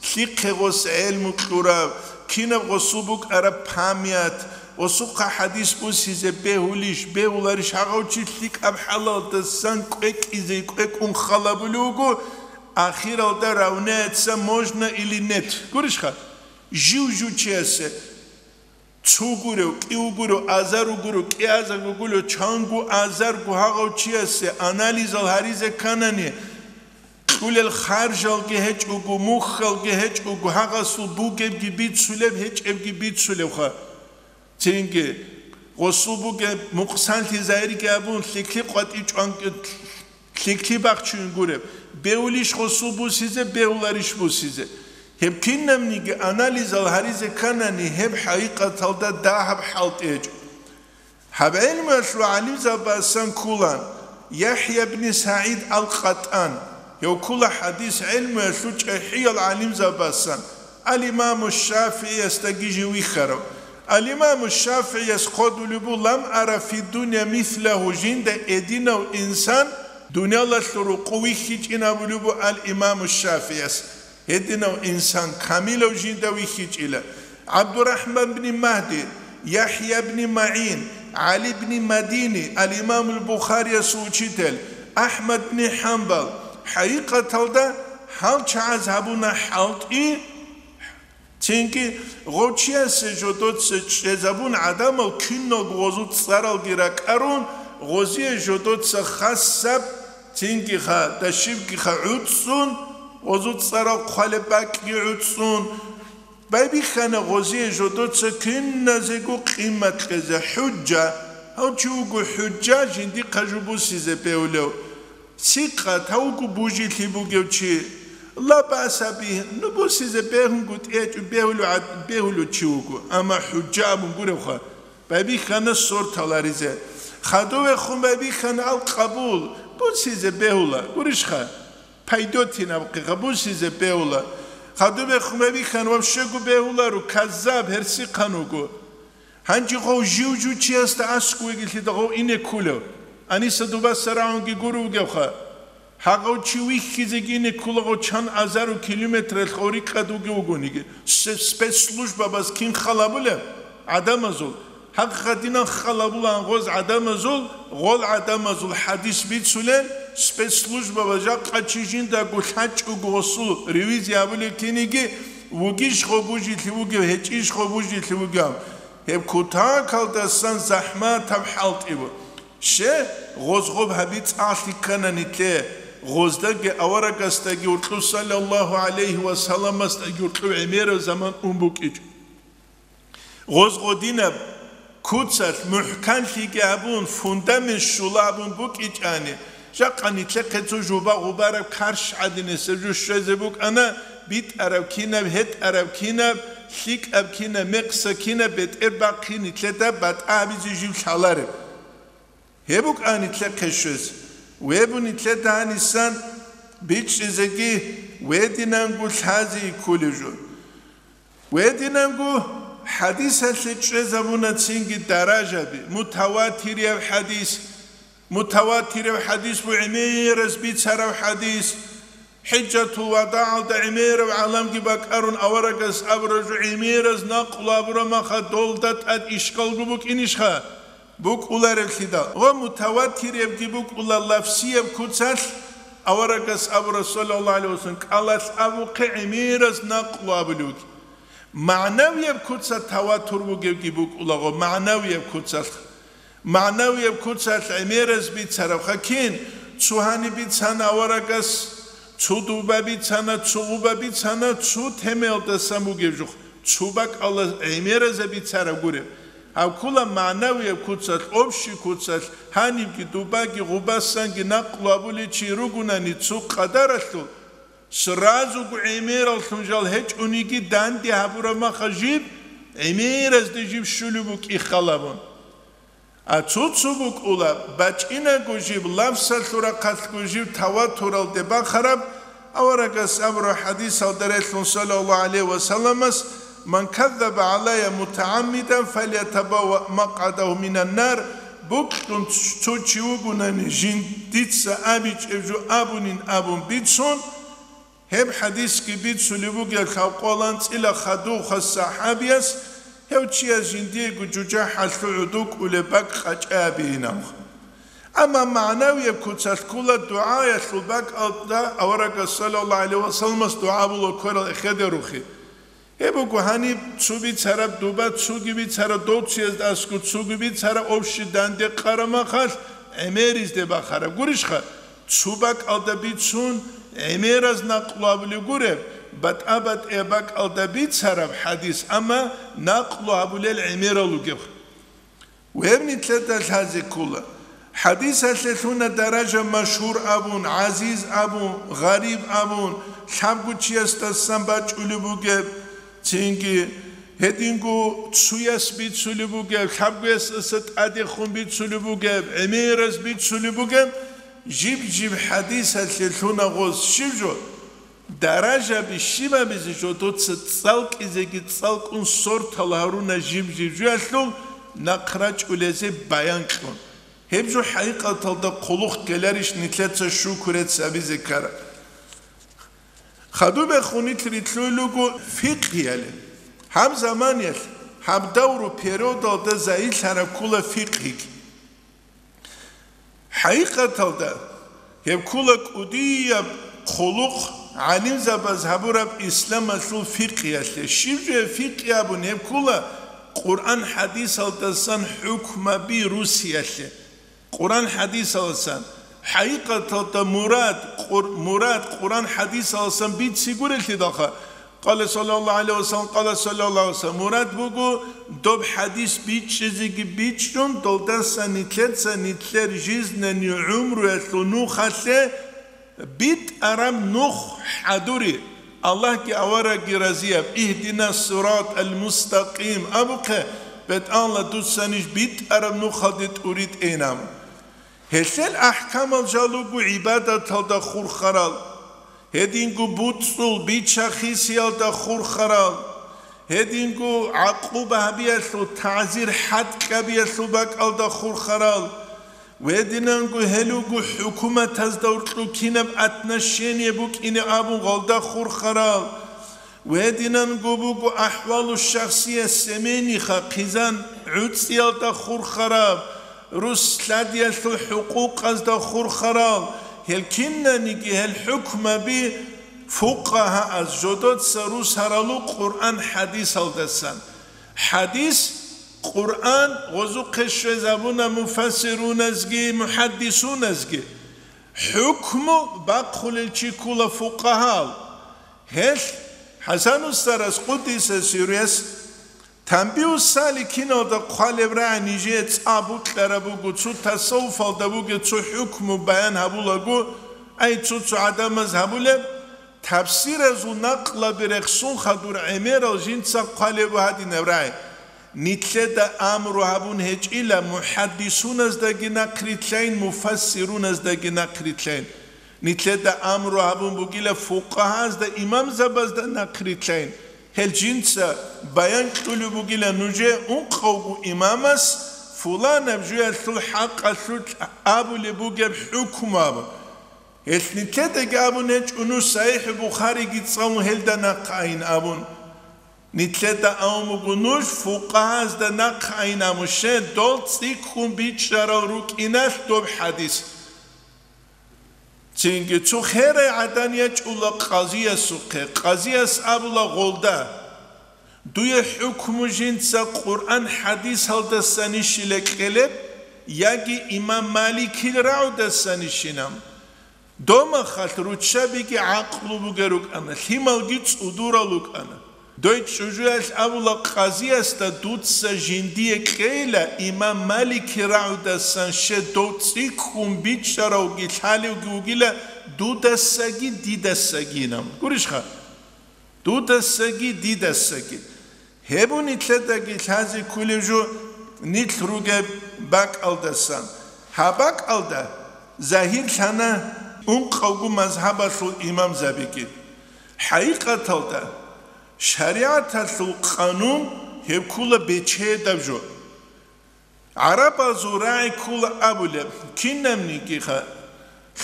лъихъе гъос гӀелму кьурав, кинаб гъосул букӀараб память, гъосухъа хӀадис бусизе бегьулищ, бегьуларищ, гьагъав чи лъикӀаб хӀалалдасан кӀвекӀизе кӀвекӀун халабулев вуго, ахиралда равняется можно или нет. Гурищха? Жив-жив чиясе. Цо гурев, кӀив гурев, азар гурев, кӀиазарго гурев, чанго азарго гьагъав чиясе анализал гьаризе кканани, кьулел харжалги гьечӀого, мухьалги гьечӀого, гьагъасул бугебги бицулеб, гьечӀебги бицулебха. Цинги, гъосул бугеб мукъсанлъи загьирги абун, лъикӀлъи къватӀи чӀван-, лъикӀлъи бахчуюн гуреб, бегьулищ гъосул бусизе, бегьуларищ бусизе. Гьеб кинабниги анализал гьаризе кканани, гьеб хӀакъикъаталда дагьаб хӀалтӀи гьечӀо. Гьаб гӀелмуялъул гӀалимзабасан кколан ЯхӀя бни СагӀид ал-КъатӀан, гьев ккола хӀадис гӀелмуялъул чӀахӀиял гӀалимзабасан, ал-Имаму ШафигӀиясдаги жив вихьарав. Ал-Имаму ШафигӀияс хъодулеб буго: «Лам ара фи дунья мислагьу», жинда гьединав инсан дуниялалъул рукъу вихьичӀин абулеб буго ал-Имаму ШафигӀияс. Гьединав инсан камилав жинда вихьичӀила. ГӀабдурахӀман бни Магьди, ЯхӀя бни МагӀин, ГӀали бни Мадини, ал-Имамул Бухариясул учитель, АхӀмад бни ХӀамбал, хӀакъикъаталда гьал чагӀаз гьабуна хӀалтӀи. Цинги гъов чиясе жодоца чӀезабун гӀадамал киналго гъозул цӀаралги ракӀарун, гъозие жодоца хасаб, цинги ха, дашибги ха гӀуцӀцӀун, гъозул цӀарал хъвалеб бакӀги гӀуцӀцӀун, байбихьана гъозие жодоца киназего къимат кьезе, хӀужжа, гьав чи вуго хӀужжа жиндихъа жо бусизе бегьулев. Сикъат гьав вуго бужилъи бугев чи. Ла баса бигь, ну бусизе бегьунго тӀечӀо бегьулев гӀад-, бегьулев чи вуго, амма хӀужжа абун гуревха, байбихьана сорт гьаларизе. Хадувехун байбихьана ал-Къабул, бусизе бегьула, гурищха? Пайдотинаб къигъа бусизе бегьула. Хадубехун байбихьана вообще-го бегьуларо, каззаб, гьерсихъан вуго. Гьанже гъов жив-жив чиясда аскӀовеги лъида гъов ине ккулев? Аниса дубаса рагӀунги гуро вугевха. Гьагъав чи вихьизеги ине ккула гъов чан азару километралъ гъов рикӀкӀад вугев вугониги. Се-, спецслужбабаз кин халабулеб? ГӀадамазул. Гьагъ гъадинан халабулаан гъоз гӀадамазул, гъол гӀадамазул хӀадис бицулел, спецслужбабаз жакъа чи жиндаго лъачӀого гъосул ревизия гьабулеб киниги, вугищ гъо бужилъи вугев, гьечӀищ гъо бужилъи вугев. Гьеб кутакалдасан захӀматаб хӀалтӀи буго. Ще, гъоз гъоб гьаби цӀалъи ккана нитлъе, гъоздаги аварагасдаги уркьу саллаллагьу гӀалайгьи ва салламасдаги уркьу гӀемераб заман ун букӀичӀо. Гъоз гъодинаб куцалъ мухӀканлъиги абун, фундамент щула абун букӀичӀани, жакъа нитлъехъе цо жуба-гъубараб карщ гӀадинесеб жо щвезе букӀана, битӀараб кинаб, гьетӀараб кинаб, лъикӀаб кинаб, мекъса кинаб бетӀер бахъи нитлъеда батӀа гьабизе жив лъалареб. Гьеб букӀа нитлъехъе щвез, вебу нитлъеда гьанисан бичӀчӀизеги, вединанго лъази кколев жо. Вединанго хӀадисалъе чӀезабуна цинги даражаби, мутаватирияв хӀадис, мутаватирав хӀадис бу гӀемераз бицарав хӀадис, ХӀижатул вадагӀалда гӀемерав гӀаламги бакӀарун аварагас абураб жо гӀемераз накълу абураб маха долда тӀад ишкалго букӀинищха? БукӀуларевлъидал. Ва мутаватиревги букӀула лафсияб куцалъ, аварагас абура, саллаллагьу гӀалайгьи вассалам, кӀалалъ абухъе гӀемераз накълу абулевги. МагӀнавияб куца таватур бугевги букӀулаго, магӀнавияб куцалъ. МагӀнавияб куцалъ гӀемераз бицарабха кин, цо гьаниб бицана аварагас, цо дуба бицана, цо гъуба бицана, цо темаялдасан бугеб жух, цо бакӀалда гӀемеразда бицараб гуреб. Гьаб ккола магӀнавияб куцалъ, общий куцалъ, гьанибги дубаги гъубасанги накълу абулев чи ругунани цо къадаралъул, Сразуго гӀемераллъун жал гьечӀониги данде гьабураб маха жиб, гӀемеразде жиб щулеб букӀи халабун. А цо-цо букӀула, бачӀинаго жиб, лафсалъул рахъалъго жиб таватуралде бахараб, аварагас абураб хӀадисалда релълъун, саллаллагьу гӀалайгьи ва салламас: «Ман каззаба гӀалайя мутагӀаммидан, фалятабавваъ макъгӀадагьу минан нар», бокьун цо чи вугунани, жиндица абичӀеб жо абунин абун бицун, гьеб хӀадисги бицулеб бугеб лъабкъоялда анцӀила хадув хас сахӀабияс, гьев чияс жиндиего жужахӀалъув гӀодов кӀолеб бакӀ къачӀа абейин абун. Амма магӀнавияб куцалъ ккола дугӀаялъул бакӀалда аварагас, саллаллагьу гӀалайгьи ва салламас, дугӀа була кверал эхеде рухи. Гьеб буго гьаниб цо бицараб дуба, цоги бицараб дов цоязда аскӀоб, цоги бицараб общий данде къараб махалъ гӀемеризде бахараб. Гурищха, цо бакӀалда бицун гӀемераз накълу гьабулеб гуреб, батӀа-батӀияб бакӀалда бицараб хӀадис, амма накълу гьабулел гӀемерал ругеб. Гьеб нилъеда лъазе ккола. ХӀадисалъе лъуна даража машгьур абун, гӀазиз абун, гъариб абун, лъабго чиясдасан бачӀулеб бугеб, цинги гьединго цояс бицулеб бугеб, лъабгоясдаса тӀадехун бицулеб бугеб, гӀемераз бицулеб бугеб, жиб-жиб хӀадисалъе лъуна гъоз щиб жо? Даражаби щибабизе жо доца цӀалкӀизеги цӀалкӀун сортал гьаруна жиб-жиб жоялъул нахъ рачӀулезе баян кьун. Гьеб жо хӀакъикъаталда хъулухъ ккеларищ нилъеца шукрец абизе ккараб? Хадубехун нилъ рилълъуй руго фикъгьияле. Гьаб заманиялъ, гьаб давру периодалда загьирлъараб ккола фикъгьиги. ХӀакъикъаталда, гьеб ккола кӀудияб хъулухъ гӀалимзабаз гьабураб исламалъул фикъгьиялъе. Щиб жо гьеб фикъгьи абун? Гьеб ккола Къуръан-хӀадисалдасан хӀукмаби русиялъе. Къуръан-хӀадисалдасан, хӀакъикъаталда мурад, Къур-, мурад Къуръан-хӀадисалдасан бицине гурелъидалха, Къала саллаллагьу гӀалайгьи ва саллам, къала саллаллагьу гӀалайгьи ва саллам. Мурад буго, доб хӀадис бичӀчӀизеги бичӀчӀун, долдаса нилъеца нилъер жизненный гӀумруялъул нухалъе битӀараб нух хӀадури, Аллагьги аварагги разияб, «Игьдина сиратал мустакъим» абухъе, бетӀалла дуца ниж битӀараб нухалде тӀуритӀейин абун. Гьелъел ахӀкамал жал руго гӀибадаталда хурхарал, гьединго буцӀцӀул бича-хисиялда хурхарал, гьединго гӀакъуба гьабиялъул, тагӀзир-хӀад кьабиялъул бакӀалда хурхарал, гьединанго гьел руго хӀукуматазда гьоркьоб кинаб отношение букӀине абун гьалда хурхарал, гьединанго буго ахӀвалу шахсия семейниха хъизан гӀуцӀиялда хурхараб, рус лъадиялъул хӀукъукъазда хурхарал, гьел кинаниги гьел хӀукмаби фукъагьааз жодоца русаралу Къуръан-хӀадисалдасан. ХӀадис, Къуръан гъозухъе щвезабуна муфассируназги мухӀаддисуназги. ХӀукму бахъулел чи ккола фукъагьал. Гьелъ ХӀасан устарас, къуддиса сирругьу, Танбигьу саликиналда хъвалеб рагӀи нижее цӀа букьараб буго, цо тасаввуфалда бугеб цо хӀукму баян гьабулаго, ай, цо-цо гӀадамаз гьабулеб, тафсиразул накълаби рехсун хадур гӀемерал жинца хъвалеб гьадинаб рагӀи. Нилъеда амру гьабун гьечӀила мухӀаддисуназдаги нахърилълъайин, муфассируназдаги нахърилълъайин. Нилъеда амру гьабун бугила фукъагьазда, имамзабазда нахърилълъайин. Гьел жинца баян кьулеб бугила нужее ункъавго имамас фуланаб жоялъул хӀакъалъулъ абулеб бугеб хӀукму абун. Гьелъ нилъедаги абун гьечӀо нуж СахӀихӀ Бухариги цӀалун гьелда нахъ айин абун. Нилъеда абун буго нуж фукъагьазда нахъ айин абун, щай дол цӀикӀкӀун бичӀчӀарал рукӀиналъ доб хӀадис. Цинги цо херай гӀадан ячӀула къазиясухъе. Къазияс абула гъолда: «Дуе хӀукму жинца Къуръан-хӀадисалдасанищила кьелеб, яги имам Маликил рагӀудасанищинаб?» Домахалъ руччабиги гӀакълу бугел рукӀана, лъималги цӀудурал рукӀана. Дой чӀужуялъ абула къазиясда: «Дуца жиндие кьейила, имам Малики рагӀудасан щай дов цӀикӀкӀун бичӀчӀаравги лъалевги вугила, дудасаги дидасагинан. Гурищха? Дудасаги дидасаги. Гьеб нилъедаги лъазе кколеб жо нилъ ругеб бакӀалдасан. Гьаб бакӀалда загьирлъана ункъавго мазгьабалъул имамзабиги. ХӀакъикъаталда, шаригӀаталъул къанун гьеб ккола бечедаб жо. ГӀарабазул рагӀи ккола абулеб, кинабнигиха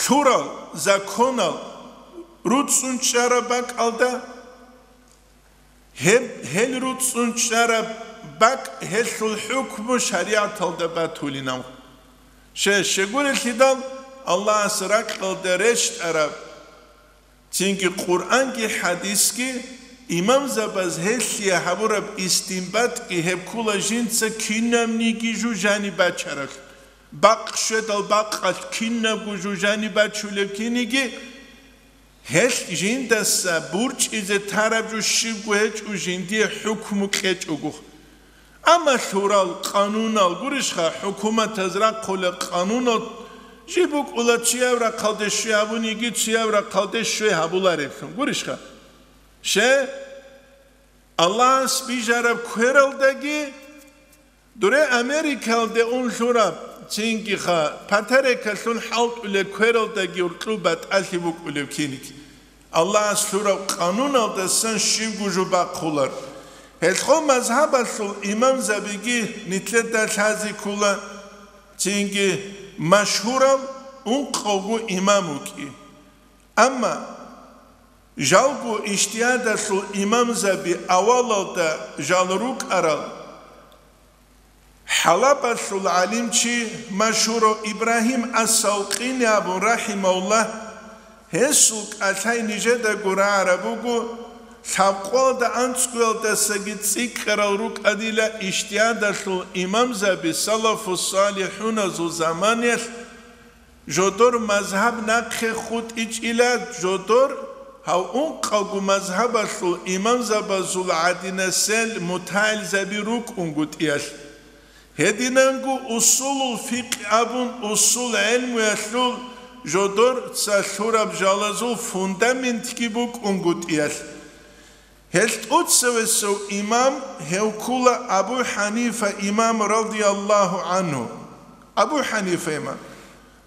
лъурал, законал руцӀцӀун чӀараб бакӀалда, гьеб, гьел руцӀцӀун чӀараб бакӀ, гьелъул хӀукму шаригӀаталда батулинав. Ще, щегурелъидал Аллагьас ракьалда рещтӀараб, цинги Къуръанги хӀадисги, имамзабаз гьелъие гьабураб истинбатги гьеб ккола жинца кинабниги жужани бачаралъ, бакъ щведал бакъалъ кинабго жужани бачулеб киниги, гьелъ жиндаса бурчӀизе тараб жо щибго гьечӀо жиндие хӀукму кьечӀого. Амма лъурал къанунал, гурищха, хӀукуматаз рахъулел къанунал жиб букӀула чияв рахъалде щвей гьабуниги, чияв рахъалде щвей гьабулареблъун, гурищха? Ще, Аллагьас бижараб квералдаги, дуре Америкалде ун лъураб, цингиха, патарекалъун хӀалтӀулеб квералдаги уркьуб батӀалъи букӀулеб киник. Аллагьас лъураб къануналдасан щибго жо бахъулар. Гьелъго мазгьабалъул имамзабиги нилъеда лъазе ккола, цинги машгьурав ункъавго имам вукӀи. Амма жалго ижтигьадалъул имамзаби авалалда жал рукӀарал, ХӀалабалъул гӀалимчи машгьурав Ибрагьим ас-Савкъини абун, рахӀимагьуллагь, гьесул кӀалъай нижедаго рагӀараб буго, лъабкъоялда анцӀгоялдасаги цӀикӀкӀарал рукӀанила ижтигьадалъул имамзаби, салафу-салихӀуназул заманаялъ, жодор мазгьаб нахъе хутӀичӀила, жодор гьав ункъавго мазгьабалъул имамзабазул гӀадинасел мутагӀилзаби рукӀунгутӀиялъ. Гьединанго усулул фикъгь абун усул гӀелмуялъул жодорца лъураб жалазул фундаментги букӀунгутӀиялъ. Гьел тӀоцевесев имам гьев ккула Абу ХӀанифа имам радияллагьу гӀангьу. Абу ХӀанифа имам.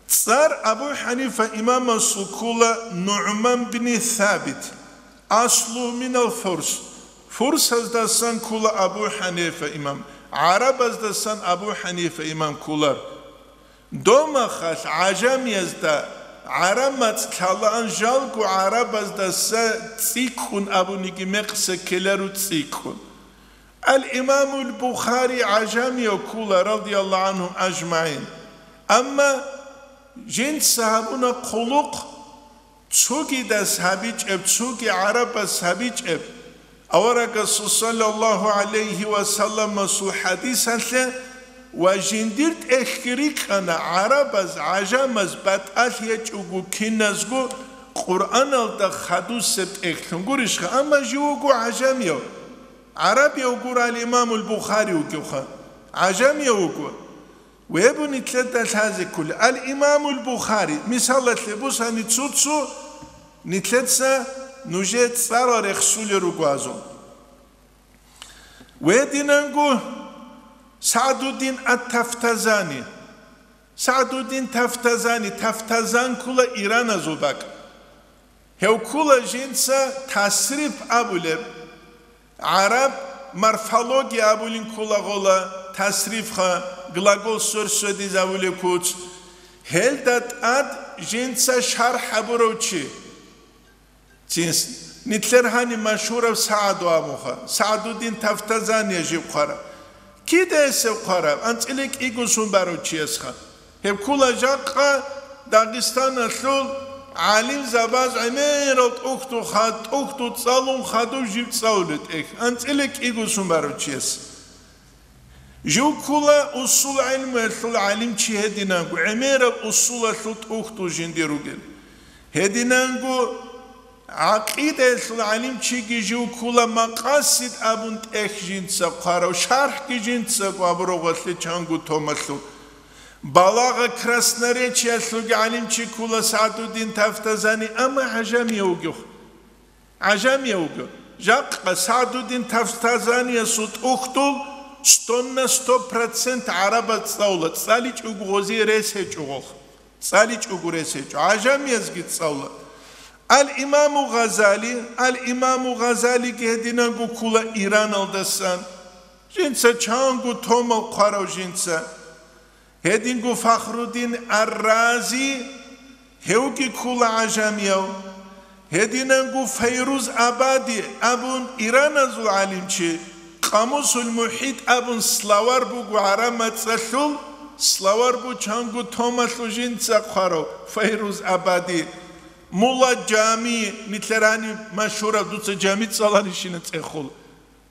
ЦӀар Абу ХӀанифа имамасул ккула НугӀман бни Сабит, аслу минал Фурс. Фурсаздасан ккула Абу ХӀанифа имам, гӀарабаздасан Абу ХӀанифа имам ккулар. Домахалъ гӀажамиязда гӀараб мацӀ лъалаан жалго гӀарабаздаса цӀикӀкӀун абуниги мекъса ккелару цӀикӀкӀун. Ал-Имамул Бухари гӀажамияв ккула, радияллагьу гӀангьум ажмагӀин. Амма жинца гьабуна хъулухъ, цогидас гьабичӀеб, цоги гӀарабас гьабичӀеб, аварагасул саллаллагьу гӀалайгьи ва салламасул хӀадисалъе ва жиндир тӀехьги рикӀкӀана гӀарабаз, гӀажамаз батӀалъи гьечӀого киназго Къуръаналда хадусеб тӀехьлъун гурищха, амма жив вуго гӀажамияв. ГӀарабияв гуро ал-Имамул Бухари вугевха, гӀажамияв вуго. Вебу нилъеда лъазе ккола. Ал-Имамул Бухари, мисалалъе бусани цо-цо нилъеца нужее цӀарал рехсулел руго азул. Гьединанго СагӀдуддин ат-Тафтазани. СагӀдуддин Тафтазани, Тафтазан ккула ираназул бакӀ. Гьев ккула жинца тасриф абулеб, гӀараб морфология абулин ккула гъола, тасрифха, глагол сверсводизавулеб куц. Гьелда тӀад жинца шархӀ гьабурав чи. Цин с-, нилъер гьаниб машгьурав СагӀду абуха, СагӀдуддин Тафтазания жив хъварав. Кида гьесев хъварав? АнцӀила кӀиго сон барав чиясха. Гьеб ккула жакъа Дагъистаналъул гӀалимзабаз гӀемерал тӀухьдул хад-, тӀухьдул цӀалун хадув жив цӀалулев тӀехь, анцӀила кӀиго сон барав чияс. Жив ккула усул гӀелмуялъул гӀалимчи гьединанго, гӀемерал усулалъул тӀухьдул жиндир ругел. Гьединанго гӀакъидаялъул гӀалимчиги жив ккула, Макъасид абун тӀехь жинца хъварав, шархӀги жинцаго абурав гъолъе чанго томалъул. Балагъа красноречиялъулги гӀалимчи ккола СагӀдуддин Тафтазани, амма гӀажамияв вугев. ГӀажамияв вуго. Жакъа СагӀдуддин Тафтазаниясул тӀухьдул сто на сто процент гӀарабаз цӀалула, цӀаличӀого гъозие рес гьечӀо гъолъ. ЦӀаличӀого рес гьечӀо. ГӀажамиязги цӀалула. Ал-Имаму Гъазали, Ал-Имаму Гъазалиги гьединанго ккола Ираналдасан. Жинца чанго томал хъварав жинца. Гьединго Фахруддин ар-Рази, гьевги ккола гӀажамияв. Гьединанго Файруз Абади абун ираназул гӀалимчи, Къамусул МухӀит абун словарь буго гӀараб мацӀалъул, словарь бу чанго томалъул жинца хъварав Файруз Абади. Мулла Жами, нилъер гьаниб машгьураб, дуца Жами цӀаларищина цӀехол.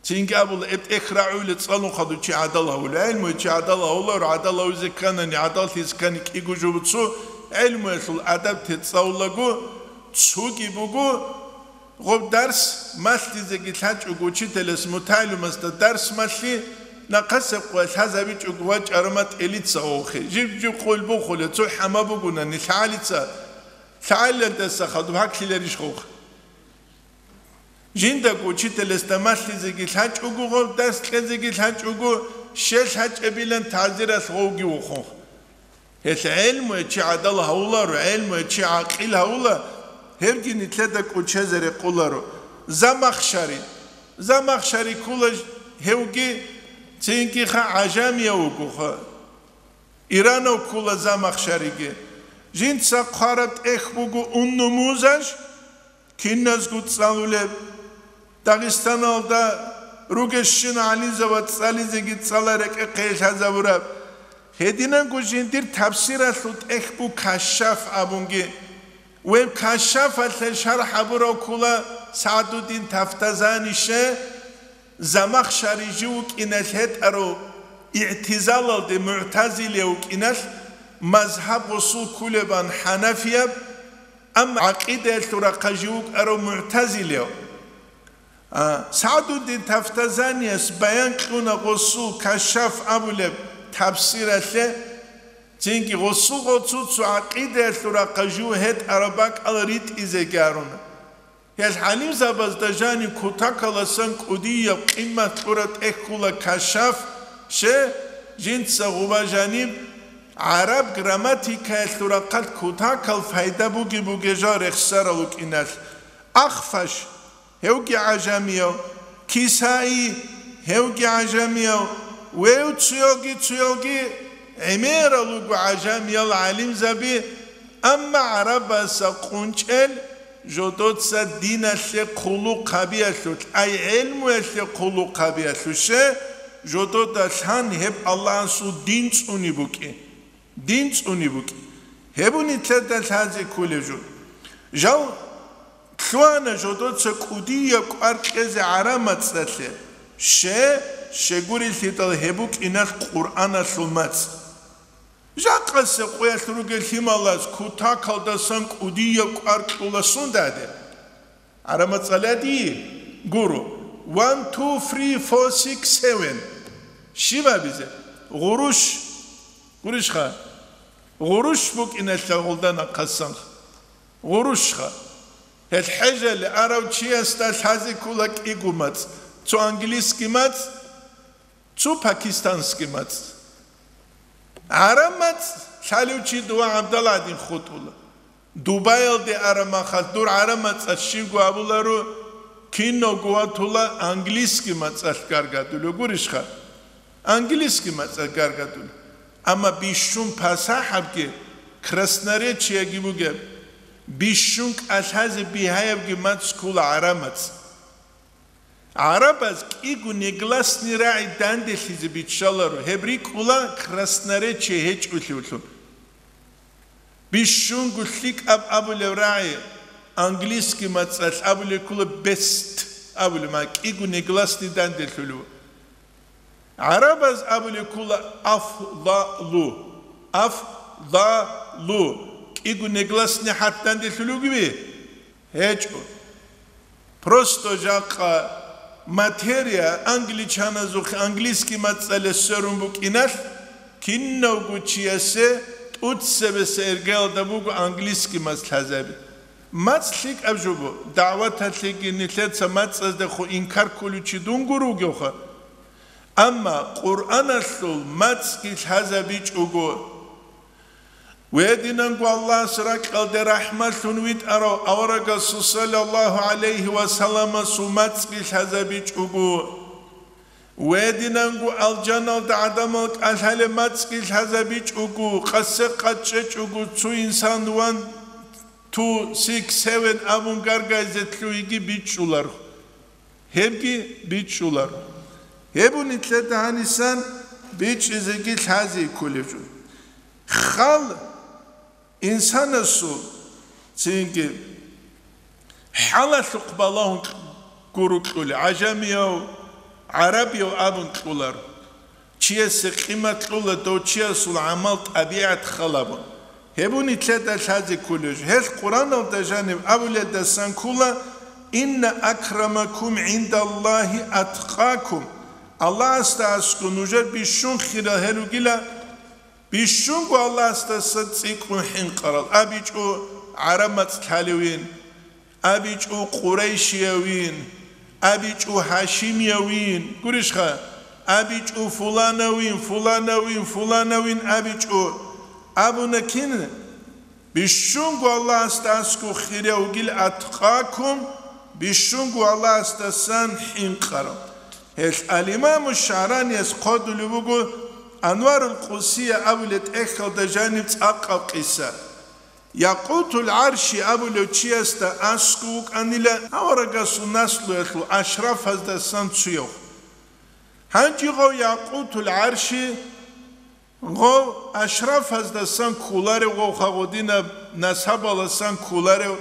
Цинги абула, гьеб тӀехь рагӀула цӀалун хадув чи гӀадал гьавула. ГӀелмуе чи гӀадал гьавуларо, гӀадал гьавизе кканани, гӀадаллъизе ккани кӀиго жо буцу, гӀелмуялъул адаб тецӀавулаго цуги буго, гъоб дарс малъизеги лъачӀого учителас мутагӀалимасда дарс малъи, нахъасеб къоялъ лъазабичӀого вачӀарама тӀелица гъовхъе. Жиб-жиб къойил бухуле, цо хӀама бугунани лъагӀалица, лъагӀалилдаса хадуб гьаклъиларищ гъовхъ? Жиндаго учителасда малъизеги лъачӀого гъов, дарс кьезеги лъачӀого, щел лъачӀебилан тазиралъ гъовги вухун. Гьелъ гӀелмуе чи гӀадал гьавуларо, гӀелмуе чи гӀакъил гьавула, гьебги нилъеда кӀочезе рекъоларо. Замахшари. Замахшари ккола гьевги, цинги-ха гӀажамияв вугоха. Иранав ккола Замахшариги. Жинца хъвараб тӀехь буго Ун-Нумузаж, киназго цӀалулеб, Дагъистаналда ругещин гӀалимзабаз цӀализеги цӀала рекӀехъе лъазабураб. Гьединанго жиндир тафсиралъул тӀехь бу Кашшаф абунги. Гьеб Кашшафалъе шархӀ гьабурав ккола СагӀдуддин Тафтазани. Ше Замахшари жив вукӀиналъ гьетӀарав, игӀтизалалде мугӀтазилияв вукӀиналъ, мазгьаб гъосул кколебан хӀанафияб, амма гӀакъидаялъул рахъа жив вукӀарав мугӀтазилияв. А, СагӀдуддин Тафтазанияс баян кьуна гъосул Кашшаф абулеб тафсиралъе, цинги гъосул гъоцуцо гӀакъидаялъул рахъа жив гьетӀараб бакӀал ритӀизеги гьаруна. Гьел гӀалимзабазда жаниб кутакаласан кӀудияб къимат кьураб тӀехь ккола Кашшаф, ше, жинца гъуба жаниб гӀараб грамматикаялъул рахъалъ кутакал пайда буги-бугел жал рехсарал вукӀиналъ. Ахфаш, гьевги гӀажамияв, Кисаи, гьевги гӀажамияв, вев цуялги-цуялги гӀемерал руго гӀажамиял гӀалимзаби, амма гӀарабазда къунчӀел жодоца диналъе хъулухъ гьабиялъулъ, ай гӀелмуялъе хъулухъ гьабиялъулъ ше, жодода лъан гьеб Аллагьасул дин цӀуни букӀи. Дин цӀуни букӀи. Гьеб нилъеда лъазе кколеб жо. Жал лъугьана жодоца кӀудияб кӀвар кьезе гӀараб мацӀалъе, ше, щегурелъидал гьеб букӀиналъ Къуръаналъул мацӀ. Жакъасеб къоялъ ругел лъималаз кутакалдасан кӀудияб кӀвар кьула сундаде. ГӀараб мацӀалъ гьадин гуро: one, two, three, four, six, seven. Щиб абизе? Гъурущ. Гурищха? Гъурущ букӀиналъа гъулда нахъасан. Гъурущха. Гьел хӀежалъе арав чиясда лъазе ккола кӀиго мацӀ: цо английский мацӀ, цо пакистанский мацӀ. ГӀараб мацӀ лъалев чи дова гӀабдал гӀадин хутӀула. Дубаялде араб махалъ дур гӀараб мацӀалъ щибго абуларо, киного ватула английский мацӀалъ гаргадулев гурищха? Английский мацӀалъ гаргадулев. Амма бищун пасахӀабги, красноречиеги бугеб, бищун кӀалъазе бигьаябги мацӀ ккола гӀараб мацӀ. ГӀарабаз кӀиго негласный рагӀи данделъизе биччаларо, гьеб рикӀкӀула красноречие гьечӀолъивлъун. Бищунго лъикӀаб абулев рагӀи, английский мацӀалъ абулеб ккола best абулеб, ма кӀиго негласный данделъулев. ГӀарабаз абулеб ккола афдалу, афдалу, кӀиго негласный хӀарп данделъулев вугеви? ГьечӀо. Просто жакъа материя англичаназухъе английский мацӀалъе сверун букӀиналъ, Кинавго чиясе тӀуцебесеб иргаялда буго английский мацӀ лъазаби. МацӀ лъикӀаб жо буго, дагӀваталъеги нилъеца мацӀаздехун инкар кколев чи дун гуро вугевха. Амма Къуръаналъул мацӀги лъазабичӀого, гьединанго Аллагьас ракьалде рахӀматлъун витӀарав аварагасул саллаллагьу гӀалайгьи ва салламасул мацӀги лъазабичӀого, гьединанго алжаналда гӀадамал кӀалъалеб мацӀги лъазабичӀого, къасе къачӀечӀого, цо инсан one, two, six, seven абун гаргайзе лъугьиги бичӀчӀуларо. Гьебги бичӀчӀуларо. Гьеб нилъеда гьанисан бичӀчӀизеги лъазе кколеб жо. Хал инсанасул цинги хӀалалъухъ балагьун гуро кьули, гӀажамияв, гӀарабияв абун кьулар. Чиясе къимат кьула дов чиясул гӀамал-тӀабигӀат халабун. Гьеб нилъеда лъазе кколеб жо. Гьелъ Къуръаналда жаниб абулелдасан ккола: «Инна акрамакум гӀиндаллагьи аткъакум». Аллагьасда аскӀов нужер бищун хирал гьел ругила, бищунго Аллагьасдаса цӀикӀкӀун хӀинкъарал, абичӀо гӀараб мацӀ лъалевин, абичӀо къурайшиявин, абичӀо гьашимиявин, гурищха, абичӀо фуланавин, фуланавин, фуланавин абичӀо, абуна кин? Бищунго Аллагьасда аскӀов хирав вугил аткъакум, бищунго Аллагьасдасан хӀинкъарав. Гьелъ ал-Имаму ШагӀранияс хъодулев вуго Анварул Къусия абулеб тӀехьалда жаниб цӀакъаб къиса. Якъутул ГӀарши абулев чиясда аскӀов вукӀанила аварагасул наслуялъул ашрафаздасан цояв. Гьанже гъов Якъутул ГӀарши гъов ашрафаздасан кколарев, гъов хагъудинаб насабаласан кколарев,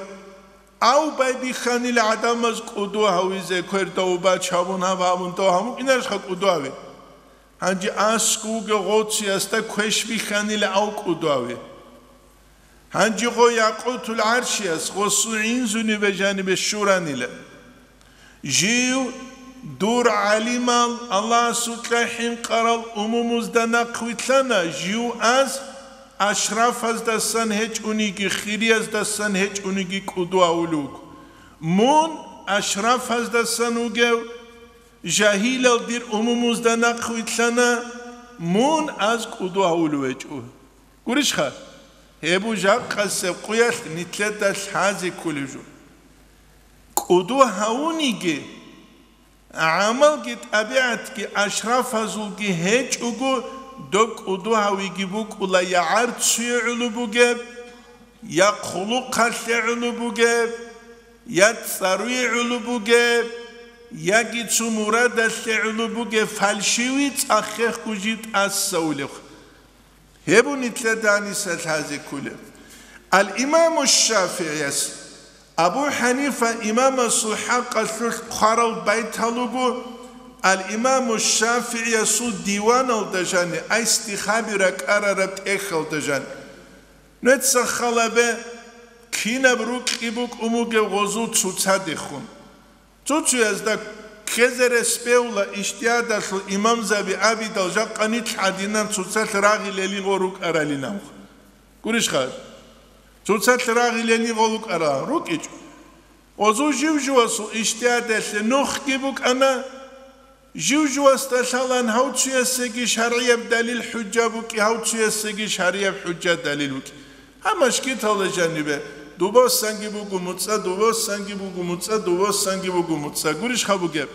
ав байбихьанила гӀадамаз кӀудо гьавизе, кверда убач гьабун, гьаб гьабун, дов гьамукӀинарищха кӀудо гьави? Гьанже аскӀов вугев гъов цоясда квеш бихьанила ав кӀудо гьави. Гьанже гъов Якъутул ГӀаршияс гъосул гӀинзунибе жанибе щуранила. Жив, дур гӀалимал, Аллагьасукьа хӀинкъарал умумузда нахъвилълъана, жив аз ашрафаздасан гьечӀониги, хирияздасан гьечӀониги кӀудо гьавулев вуго. Мун ашрафаздасан вугев, жагьилал дир умумузда нахъвилълъана, мун аз кӀудо гьавулев гьечӀо. Гурищха? Гьеб жакъасеб къуялъ нилъеда лъазе кколеб жо. КӀудо гьавуниги, гӀамалги тӀабигӀатги ашрафазулги гьечӀого, доб кӀудо гьавиги букӀула я гӀарцуе гӀоло бугеб, я хъулухъалъе гӀоло бугеб, я цӀаруе гӀоло бугеб, яги цо мурадалъе гӀоло бугеб фальшивый цӀахехго жив тӀасаулев. Гьеб нилъеда гьаниса лъазе кколеб. Ал-Имаму ШафигӀияс Абу ХӀанифа имамасул хӀакъалъулъ хъварал байтал руго, Ал-Имаму ШафигӀиясул диваналда жани айстихаби ракӀарараб тӀехьалда жани. Нуца халабе, кинаб рукьи букӀун бугеб гъозул цоцадехун. Цо-цоязда ккезе рес бегьула ижтигьадалъул имамзаби абидал жакъа нилъ гӀадинан цоцалъ рагъилели гъо рукӀаралинавха. Гурищха? Цоцалъ рагъилели гъо рукӀарал рукӀичӀо. Гъозул жив-живасул ижтигьадалъе нухги букӀана, жив-живасда лъалан гьав цоясеги шаргӀияб далил хӀужа букӀи, гьав цоясеги шаргӀияб хӀужа далил букӀи. Гьаб мажгиталда жанибе, дубасанги буго муцӀа, дубасанги буго муцӀа, дубасанги буго муцӀа. Гурищха бугеб?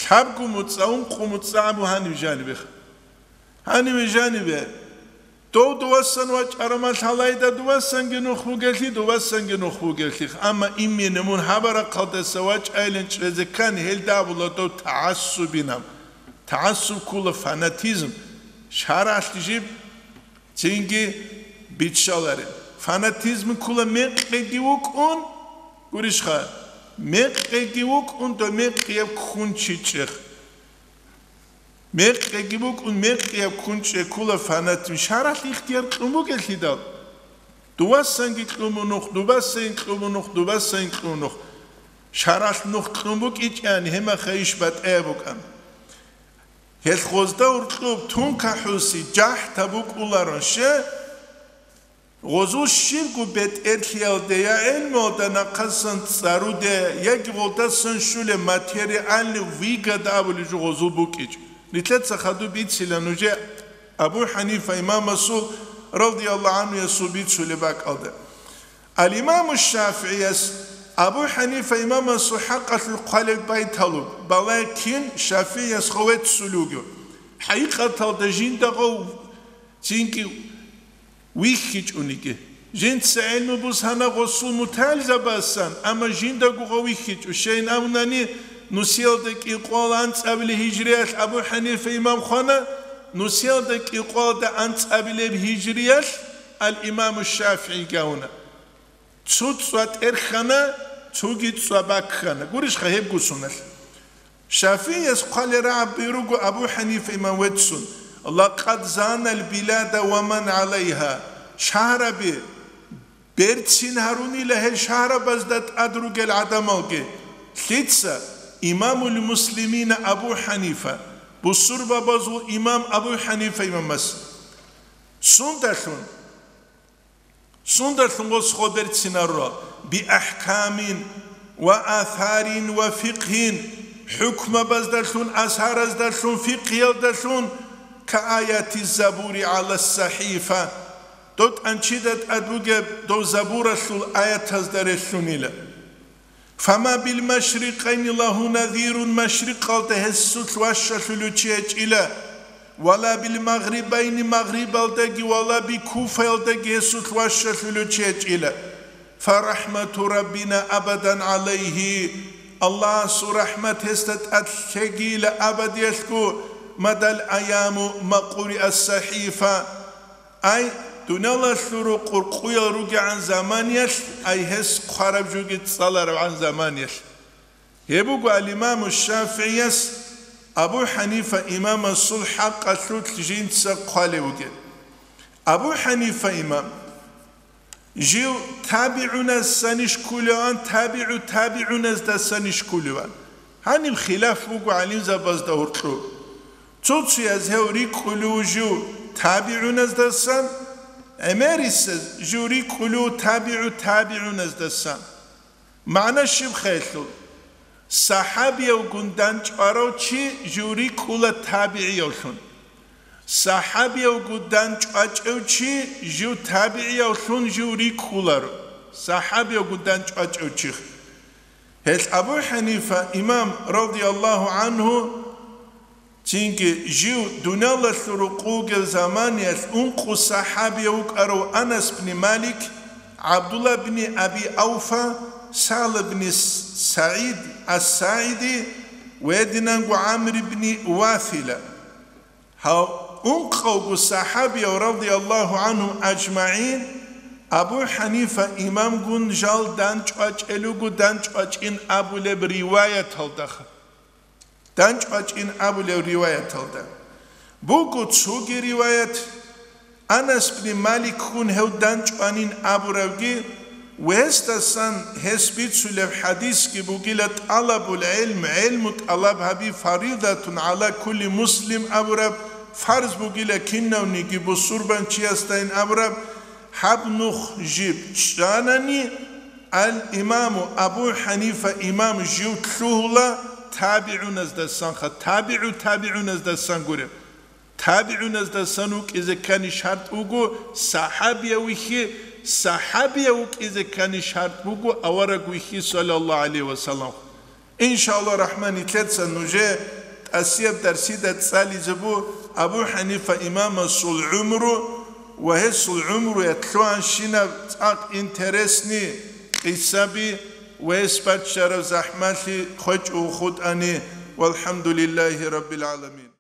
Лъабго муцӀа, ункъо муцӀа абу гьаниб жанибеха. Гьанибе жанибе. Дов дувасан вачӀарамал гьалайда дувасанги нух бугелъи, дувасанги нух бугелъих. Амма имени мун гьабарахъалдаса вачӀайилан чӀезе ккани, гьелда абула дов тагӀассубинаб. ТагӀассуб ккула фанатизм. ШаргӀалъ жиб цинги биччаларел. Фанатизм ккула мекъиги вукӀун, гурищха, мекъиги вукӀун, дов мекъияб ккун чи чӀех. Мекъиги букӀун, мекъияб ккун чӀекула фанатизм. ШаргӀалъ ихтияр кьун бугелъидал, дувасанги кьун бу нух, дубасайин кьун бу нух, дубасайин кьун нух. ШаргӀалъ нух кьун букӀичӀани, гьемаха иш батӀаяб букӀан. Гьелъ гъозда гьоркьоб тункахӀуси жахӀ табукӀуларо, ще, гъозул щибго бетӀерлъиялде я гӀелмуялда нахъасан цӀаруде, яги гъолдасан щулеб материальный выгода абулеб жо гъозул букӀичӀ. Нилъеца хадуб бицила нужее Абу ХӀанифа имамасул, радияллагьу гӀанхуясул, бицулеб бакӀалда. Ал-Имаму ШафигӀияс Абу ХӀанифа имамасул хӀакъалъулъ хъвалеб байталуб, балагье кин ШафигӀияс ховеццулев вугев. ХӀакъикъаталда жиндаго цинги вихьичӀониги. Жинца гӀелму бусана гъосул мутагӀилзабасан, амма жиндаго гъов вихьичӀо. Щайин абунани, нусиялда кӀикъоялда анцӀабилеб гьижриялъ Абу ХӀанифа имам хвана, нусиялда кӀикъоялда анцӀабилеб гьижриялъ ал-Имаму ШафигӀи гавуна. Цо цӀва тӀерхьана, цоги цӀва баккана. Гурищха гьебго соналъ? ШафигӀияс хъвалеб рагӀаби руго Абу ХӀанифа имам веццун: «Лакъад занал билада ва ман гӀалайгьа». Шагьраби берцин гьарунила гьел шагьрабазда тӀад ругел гӀадамалги. Лъица? Имамул муслимина Абу ХӀанифа, бусурбабазул имам Абу ХӀанифа имамас. Сундалъун? Сундалъун гъос хо берцинарро? Би ахӀкамин ва асарин ва фикъгьин, хӀукмабаздалъун, асараздалъун, фикъгьиялдалъун, ка аяти забури гӀала сахӀифа, дов тӀанчида тӀад бугеб дов забуралъул аятазда релълъунила. Фама бил машрикъайни лагьу назирун, машрикъалда гьесулъ ващалъулев чи гьечӀила, вала бил магърибайни, магърибалдаги, вала би куфаялдаги гьесулъ ващалъулев чи гьечӀила. Фа рахӀмату Раббина абадан гӀалайгьи, Аллагьасул рахӀмат гьесда тӀад лъегийила абадиялъго, мадал аяму макъури ас-сахӀифа. Ай, дуниялалъул рукъ къуркъуял ругегӀан заманиялъ, ай, гьес хъвараб жоги цӀаларабгӀан заманиялъ. Гьеб буго ал-Имаму ШафигӀияс Абу ХӀанифа имамасул хӀакъалъулъ жинца хъвалев вугеб. Абу ХӀанифа имам жив табигӀунасанищ кколеван, табигӀу табигӀуназдасанищ кколеван? Гьаниб хилаф буго гӀалимзабазда гьоркьоб. Цо-цояз гьев рикӀкӀулев жив табигӀуназдасан, гӀемерисез жив рикӀкӀулев табигӀу табигӀуназдасан. МагӀна щиб хъелъул? СахӀабиявгун дандчӀварав чи жив рикӀкӀула табигӀиявлъун. СахӀабиявгун дандчӀвачӀев чи жив табигӀиявлъун жив рикӀкӀуларо. СахӀабиявгун дандчӀвачӀев чи. Гьелъ Абу ХӀанифа имам, радияллагьу гӀанху, цинги жив дуниялалъул рукъ вугев заманиялъ ункъо сахӀабияв вукӀарав Анас бни Малик, ГӀабдулла бни Аби Авфа, Сагьл бни СагӀид ас-СагӀиди ва гьединанго ГӀамр бни Вафила. Гьав ункъавго сахӀабияв, радияллагьу гӀанхум ажмагӀин, Абу ХӀанифа имамгун жал дандчӀвачӀел руго дандчӀвачӀин абулеб риваяталдаха. ДандчӀвачӀин абулев риваяталда. Буго цоги риваят, Анас бни Маликгун гьев дандчӀванин абуравги, ва гьесдасан гьес бицулеб хӀадисги бугила: «ТӀалабул гӀилм, гӀилму тӀалаб гьаби, фаридатун гӀала кулли муслим», абураб, фарз бугила кинавниги бусурбанчиясдайин абураб. Гьаб нух жиб чӀанани, Ал-Имаму Абу ХӀанифа имам жив лъугьула табигӀуназдасанха, табигӀу табигӀуназдасан гуреб. ТабигӀуназдасан вукӀизе ккани шарт вуго сахӀабияв вихьи, сахӀабияв вукӀизе ккани шарт буго авараг вихьи, саллаллагьу гӀалайгьи ва саллам. Иншаллагь рахман, нилъеца нужее тӀасияб дарсида цӀализе бу Абу ХӀанифа имамасул гӀумру ва гьесул гӀумруялъ лъугьанщинаб цӀакъ интересни къисаби ва гьес баччараб захӀмалъи хвечӀого хутӀани. ВалхӀамдулиллагьи раббил гӀаламин.